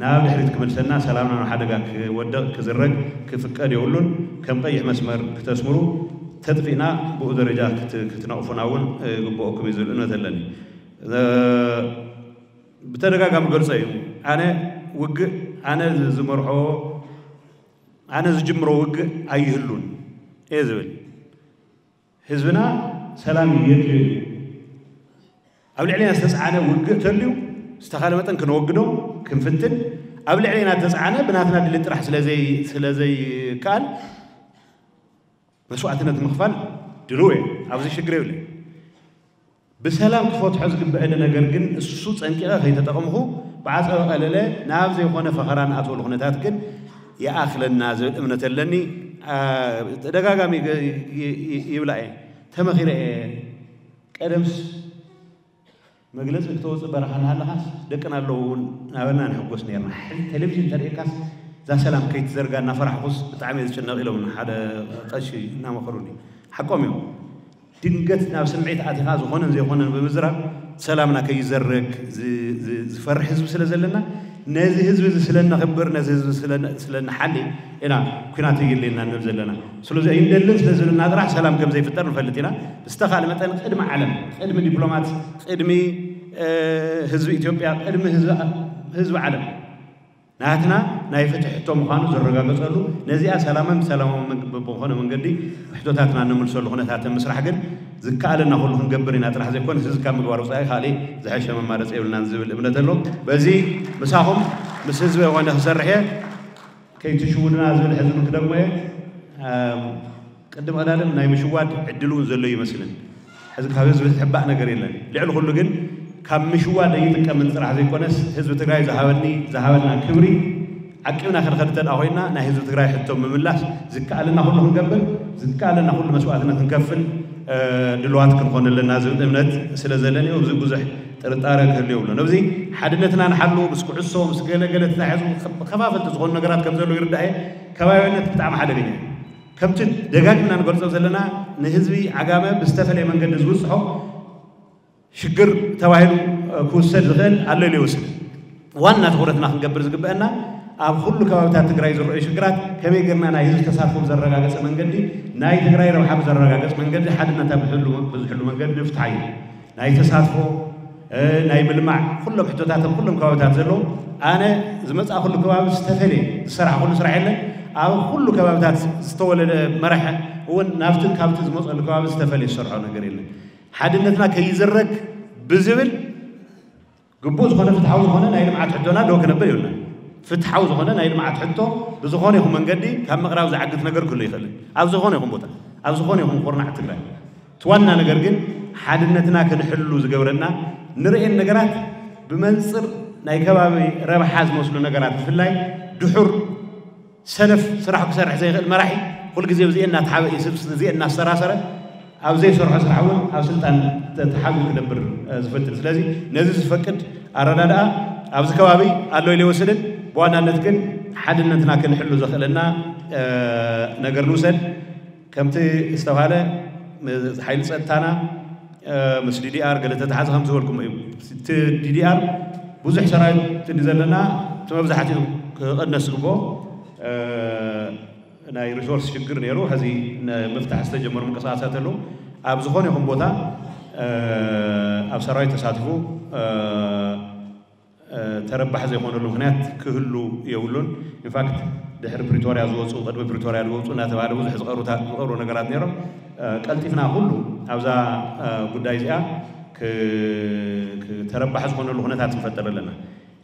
ናብ ድሕሪት ክመልሰና ሰላምና ናብ ሓደጋ ክወደቕ ክዝረግ ክፍቀድ የብሉን። ከም ቀይሕ መስመር ክተስምሩ ተጥፊእና ብኡ ደረጃ ክትነቕፉና እውን ግብኦኩም እዩ ዝብል እምነት ኣለኒ። ብተደጋጋሚ ገልፀ እዩ ኣነ ውግእ ኣነ ዝመርሖ ኣነ ዝጅምሮ ውግእ ኣይህሉን እየ ዝብል። ህዝብና ሰላም የድልዮ እዩ። ኣብ ልዕሌና ዝተፃዓነ ውግእ ተልዩ ዝተኻለ መጠን ክንወግዶ ክንፍትን ኣብ ልዕሌና ዝተፃዓነ ብናትና ድሌት ጥራሕ ስለዘይከኣል መስዋዕትነት ምኽፋል ድልው እየ። ኣብዚ ሽግር የብለይ። ብሰላም ክፈትሖ ዝግበአኒ ነገር ግን እሱ ፀንቂቐ ከይተጠቐምኹ ብዓፀበ ቀለለ ናብ ዘይኮነ ፈኸራ ንኣትወሉ ኩነታት ግን ይኣኽለና ዝብል እምነት ኣለኒ። ተደጋጋሚ ይብላ እየ ተመኺረ እየ ቀደምስ መግለፂ ክተወፅእ በረኻ እናሃለኻስ ደቅና ኣለዉ እውን ናበልና ንሕጎስ ነርና። ሕዚ ቴሌቪዥን ተርእየካስ እዛ ሰላም ከይትዘርጋ እናፈራሕኩስ ብጣዕሚ እየ ዝጭነቕ ኢሎም ሓደ ቀሺ እናመኸሩኒ ሓቆም እዮም። ድንገት ናብ ስምዒት ኣቲኻ ዝኾነን ዘይኮነን ብምዝራብ ሰላምና ከይዘረግ ዝፈርሕ ህዝቢ ስለ ዘለና ነዚ ህዝቢ እዚ ስለ ነኽብር ነዚ ህዝቢ ስለ ንሓሊ ኢና ኩናት የድልየና ንብል ዘለና። ስለዚ ኣይንደልን ስለ ዝብልና ጥራሕ ሰላም ከም ዘይፍጠር ንፈልጥ ኢና። ብዝተኻለ መጠን ቅድሚ ዓለም ቅድሚ ዲፕሎማት ቅድሚ ህዝቢ ኢትዮጵያ ቅድሚ ህዝቢ ዓለም ናትና ናይ ፍትሒ ሕቶ ምዃኑ ዝረጋገፀሉ ነዚኣ ሰላምን ሰላማዊ ብዝኾነ መንገዲ ሕቶታትና እንምልሰሉ ኩነታት ምስራሕ ግን ዝከኣለና ኩሉ ክንገብር ኢና ጥራሕ ዘይኮነስ እዚ ካብ ምግባር ወፃኢ ካሊእ ዝሐሸ መማረፂ የብልናን ዝብል እምነት ኣሎ። በዚ ምሳኹም ምስ ህዝቢ ኾነ ክሰርሕ እየ። ከይትሽውድና ዝብል ሕዚ ክደግሞ እየ። ቅድም ቀዳድም ናይ ምሽዋድ ዕድል እውን ዘሎ ይመስልን። ሕዚ ካብ ህዝቢ ዝሕባእ ነገር የለን። ልዕሊ ኩሉ ግን ካብ ምሽዋድ ኣይጥቀምን ጥራሕ ዘይኮነስ ህዝቢ ትግራይ ዝሃበኒ ዝሃበና ክብሪ ዓቂብና ክንኸድ እንተ ኮይና ናይ ህዝቢ ትግራይ ሕቶ ምምላስ ዝከኣለና ኩሉ ክንገብር ዝከኣለና ኩሉ መስዋዕትነት ክንከፍል ድልዋት ክንኾን ኣለና ዝብል እምነት ስለ ዘለኒ ኣብዚ ብዙሕ ጥርጣረ ክህሉ የብሉን። ኣብዚ ሓድነትና ንሓሉ ምስ ኩዕሶ ምስ ገለገለ ተታሒዙ ከፋፈልቲ ዝኾኑ ነገራት ከም ዘለዉ ይርዳእ እየ። ከባቢያዊነት ብጣዕሚ ሓደገኛ እዩ። ከምቲ ደጋጊምና ንገልጾ ዘለና ንህዝቢ ዓጋመ ብዝተፈለየ መንገዲ ዝብጽሖ ሽግር ተባሂሉ ክውሰድ ዝኽእል ኣሎ ኢሉ ይወስድ። ዋና ትኹረትና ክንገብር ዝግበአና ኣብ ኩሉ ከባብታት ትግራይ ዝረኣዩ ሽግራት ከመይ ጌርና ናይ ህዝቢ ተሳትፎ ብዘረጋገፀ መንገዲ፣ ናይ ትግራይ ረብሓ ብዘረጋገፅ መንገዲ፣ ሓድነታ ብሕሉ ብዝሕሉ መንገዲ ንፍትሓ እዩ። ናይ ተሳትፎ፣ እ፣ ናይ ምልማዕ ኩሎም ሕቶታት ኣብ ኩሎም ከባብታት ዘለዉ፣ ኣነ ዝመፃእኩሉ ከባቢ ዝተፈለየ ዝሰራሕኩሉ ስራሕ የለን። ኣብ ኩሉ ከባብታት ዝተወለደ መራሒ እውን ናብቲ ካብቲ ዝመፀሉ ከባቢ ዝተፈለየ ዝሰርሖ ነገር የለን። ሓድነትና ከይዝረግ ብዝብል ግቡእ ዝኾነ ፍትሓዊ ዝኾነ ናይ ልምዓት ሕቶና ደው ክነብል ይብልና። ፍትሓዊ ዝኾነ ናይ ልምዓት ሕቶ ብዝኾነ ይኹን መንገዲ ካብ ምቕራብ ዝዓግት ነገር ክህሉ ይኽእል። ኣብ ዝኾነ ይኹን ቦታ፣ ኣብ ዝኾነ ይኹን ኩርናዕ ትግራይ። እቲ ዋና ነገር ግን ሓድነትና ክንሕሉ ዝገብረና ንርእየን ነገራት ብመንፅር ናይ ከባቢ ረብሓ ዝመስሉ ነገራት ብፍላይ ድሑር ሰነፍ ስራሕ ክሰርሕ ዘይኽእል መራሒ ኩሉ ግዜ ብዚኤ እናተሓበ እዩ ስብ-፣ ብዚኤ እናስተራሰረ ኣብ ዘይሰርሖ ስራሕ እውን ኣብ ስልጣን ተ-፣ ተሓቢኡ ክነብር፣ እ፣ ዝፈትን። ስለዚ ነዚ ዝፈቅድ ኣረዳድኣ ኣብዚ ከባቢ ኣሎ ኢለ ይወስድን። ብዋናነት ግን ሓድነትና ክንሕሉ ዘኽእለና፣ እ፣ ነገር ንውሰድ። ከምቲ ዝተባሃለ ም-፣ ሓይሊ ጸጥታና፣ እ፣ ምስ ዲ ዲ ኣር ገለ ተተሓዘ ከም ዝበልኩም እዩ። እቲ ዲ ዲ ኣር ብዙሕ ሰራዊት እንዲ ዘለና እቲ መብዛሕትኡ ክቕነስ ዝግብኦ፣ እ፣ ናይ ሪሶርስ ሽግር ነይሩ። ሕዚ ንምፍታሕ ዝተጀመሩ ምንቅስቃሳት ኣለዉ። ኣብ ዝኾነ ይኹን ቦታ፣ እ፣ ኣብ ሰራዊት ተሳትፉ፣ እ፣ እ፣ ተረባሒ ዘይኮነሉ ምኽንያት ክህሉ የብሉን። ኢንፋክት ድሕሪ ፕሪቶርያ ዝወፁ፣ ቅድሚ ፕሪቶርያ ዝወፁ እናተባሃለ ብዙሕ ዝቐርቡ ታ-፣ ዝቐርቡ ነገራት ነይሮም። እ፣ ቀልጢፍና ኩሉ ኣብዛ፣ እ፣ ጉዳይ እዚኣ ክ-፣ ክ-፣ ተረባሒ ዝኾነሉ ኩነታት ንፈጥር ኣለና።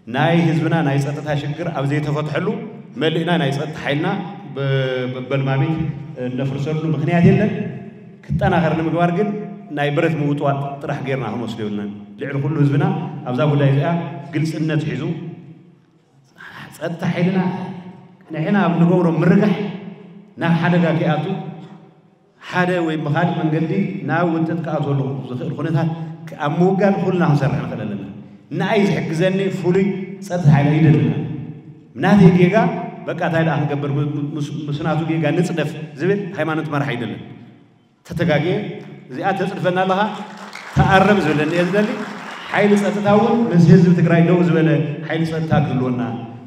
ናይ ህዝብና ናይ ጸጥታ ሽግር ኣብ ዘይተፈትሐሉ መሊእና ናይ ጸጥታ ሓይልና ብ-፣ በበልማሚት እነፍርሰሉ ምኽንያት የለን። ክጠናኸር ንምግባር ግን ናይ ብረት ምውጥዋጥ ጥራሕ ጌርና ክንወስዶ የብልናን። ልዕሊ ኩሉ ህዝብና ኣብዛ ጉዳይ እዚኣ ግልጽነት ሒዙ ጸጥታ ሓይልና ንሕና ኣብ ንገብሮ ምርጋሕ ናብ ሓደጋ ከይኣቱ ሓደ ወይ ብኻልእ መንገዲ ናብ ውጥጥ ክኣትወሉ ዝኽእል ኩነታት ኣብ ምውጋድ ኩልና ክንሰርሕ ንኽእል ኣለና። ንኣይ ዝሕግዘኒ ፍሉይ ጸጥታ ሓይሊ ኣይደልን። ናተይ ጌጋ በቃ እንታይ ደኣ ክንገብር ም-፣ ም-፣ ምስ፣ ምስ ናቱ ጌጋ ንጽደፍ ዝብል ሃይማኖት መራሕ ኣይደልን። ተተጋግየ እዚኣ ተጽድፈና ኣለኻ ተኣረም ዝብለኒ እየ ዝደሊ። ሓይሊ ጸጥታ እውን ምስ ህዝቢ ትግራይ ደው ዝበለ ሓይሊ ጸጥታ ክህልወና፣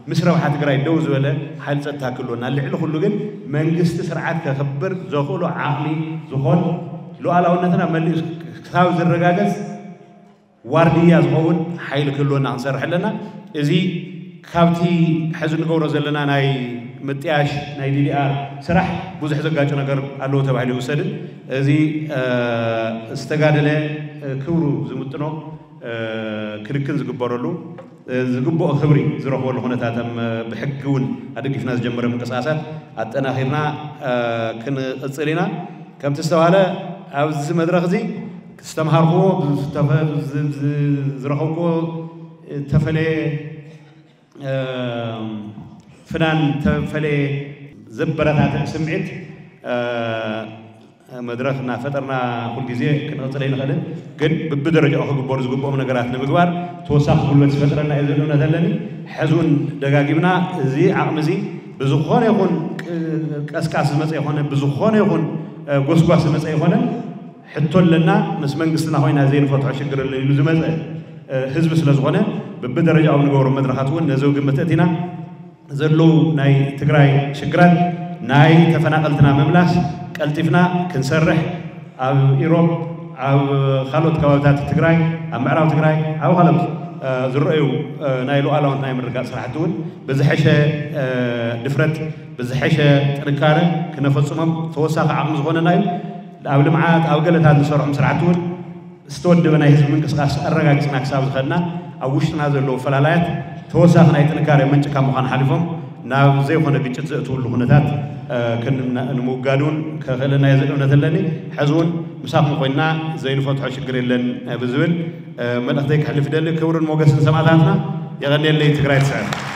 ምስ ረብሓ ትግራይ ደው ዝበለ ሓይሊ ጸጥታ ክህልወና፣ ልዕሊ ኩሉ ግን መንግስቲ ስርዓት ከኽብር ዘኽእሎ ዓቕሚ ዝኾን ሉዓላውነትና መሊኡ ክሳብ ዝረጋገጽ ዋርድያ ዝኸውን ሓይሊ ክህልወና ክንሰርሕ ኣለና። እዚ ካብቲ ሕዚ ንገብሮ ዘለና ናይ ምጥያሽ ናይ ዲ ዲ ኣር ስራሕ ብዙሕ ዘጋጩ ነገር ኣለዎ ተባሂሉ ይውሰድን። እዚ፣ እ፣ ዝተጋደለ፣ እ፣ ክብሩ ዝምጥኖ፣ እ፣ ክንክን ዝግበረሉ፣ እ፣ ዝግብኦ ክብሪ ዝረኽበሉ ኩነታት፣ እም፣ ብሕጊ እውን ኣደጊፍና ዝጀመረ ምንቅስቃሳት ኣጠናኺርና፣ እ፣ ክንቕጽል ኢና። ከምቲ ዝተባህለ ኣብዚ መድረኽ እዚ ዝተምሃርኩዎ፣ ዝተፈ-፣ ዝ-፣ ዝ-፣ ዝረኸብኩዎ እተፈለየ፣ እ፣ ፍናን፣ እተፈለየ ዘበረታትዕ ስምዒት፣ እ፣ መድረኽ እናፈጠርና ኩልግዜ ክንቕጽል ኣይንኽእልን። ግን ብብደረጃኡ ክግበሩ ዝግብኦም ነገራት ንምግባር ተወሳኺ ጉልበት ዝፈጥረና እዩ ዝብል እምነት ኣለኒ። ሕዚ እውን ደጋጊምና እዚ ዓቕሚ እዚ ብዝኾነ ይኹን ቅ-፣ ቀስቃስ ዝመፀ ይኾነ፣ ብዝኾነ ይኹን፣ እ፣ ጎስጓስ ዝመፀ ይኾነ፣ ሕቶ ኣለና፣ ምስ መንግስትና ኮይና ዘይንፈትሖ ሽግር ኣሎ ኢሉ ዝመፀ፣ እ፣ ህዝቢ ስለ ዝኾነ፣ ብብደረጃኡ ንገብሮ መድረኻት እውን ነዚ ግምት ኣእቲና ዘለዉ ናይ ትግራይ ሽግራት፣ ናይ ተፈናቐልትና ምምላስ ቀልጢፍና ክንሰርሕ፣ ኣብ ኢሮብ፣ ኣብ ካልኦት ከባብታት ትግራይ፣ ኣብ ምዕራብ ትግራይ፣ ኣብ ካልኦት፣ እ፣ ዝረኣዩ፣ እ፣ ናይ ሉዓላውነት ናይ ምርግጋፅ ስራሕቲ እውን ብዝሐሸ፣ እ፣ ድፍረት፣ ብዝሐሸ ጥንካረ ክነፈፅሞም ተወሳኺ ዓቕሚ ዝኾነና እዩ። ኣብ ልምዓት፣ ኣብ ገለታት ንሰርሖም ስራሕቲ እውን ዝተወደበ ናይ ህዝቢ ምንቅስቃስ ኣረጋጊፅና ክሳብ ዝኸድና፣ ኣብ ውሽጥና ዘለዉ ፈላላያት ተወሳኺ ናይ ጥንካሬ ምንጪ ካብ ምዃን ሓሊፎም ናብ ዘይኮነ ግጭት ዘእትውሉ ኩነታት፣ እ፣ ክን-፣ ንምውጋድ እውን ከኽእለና እየ ዝብል እምነት ኣለኒ። ሕዚ እውን ምሳኹም ኮይንና ዘይንፈትሖ ሽግር የለን፣ እ፣ ብዝብል፣ እ፣ መልእኽተይ ከሕልፍ ይደሊ። ክብርን ሞገስን ሰማእታትና። የቐንየለይ። ትግራይ ትስዕር።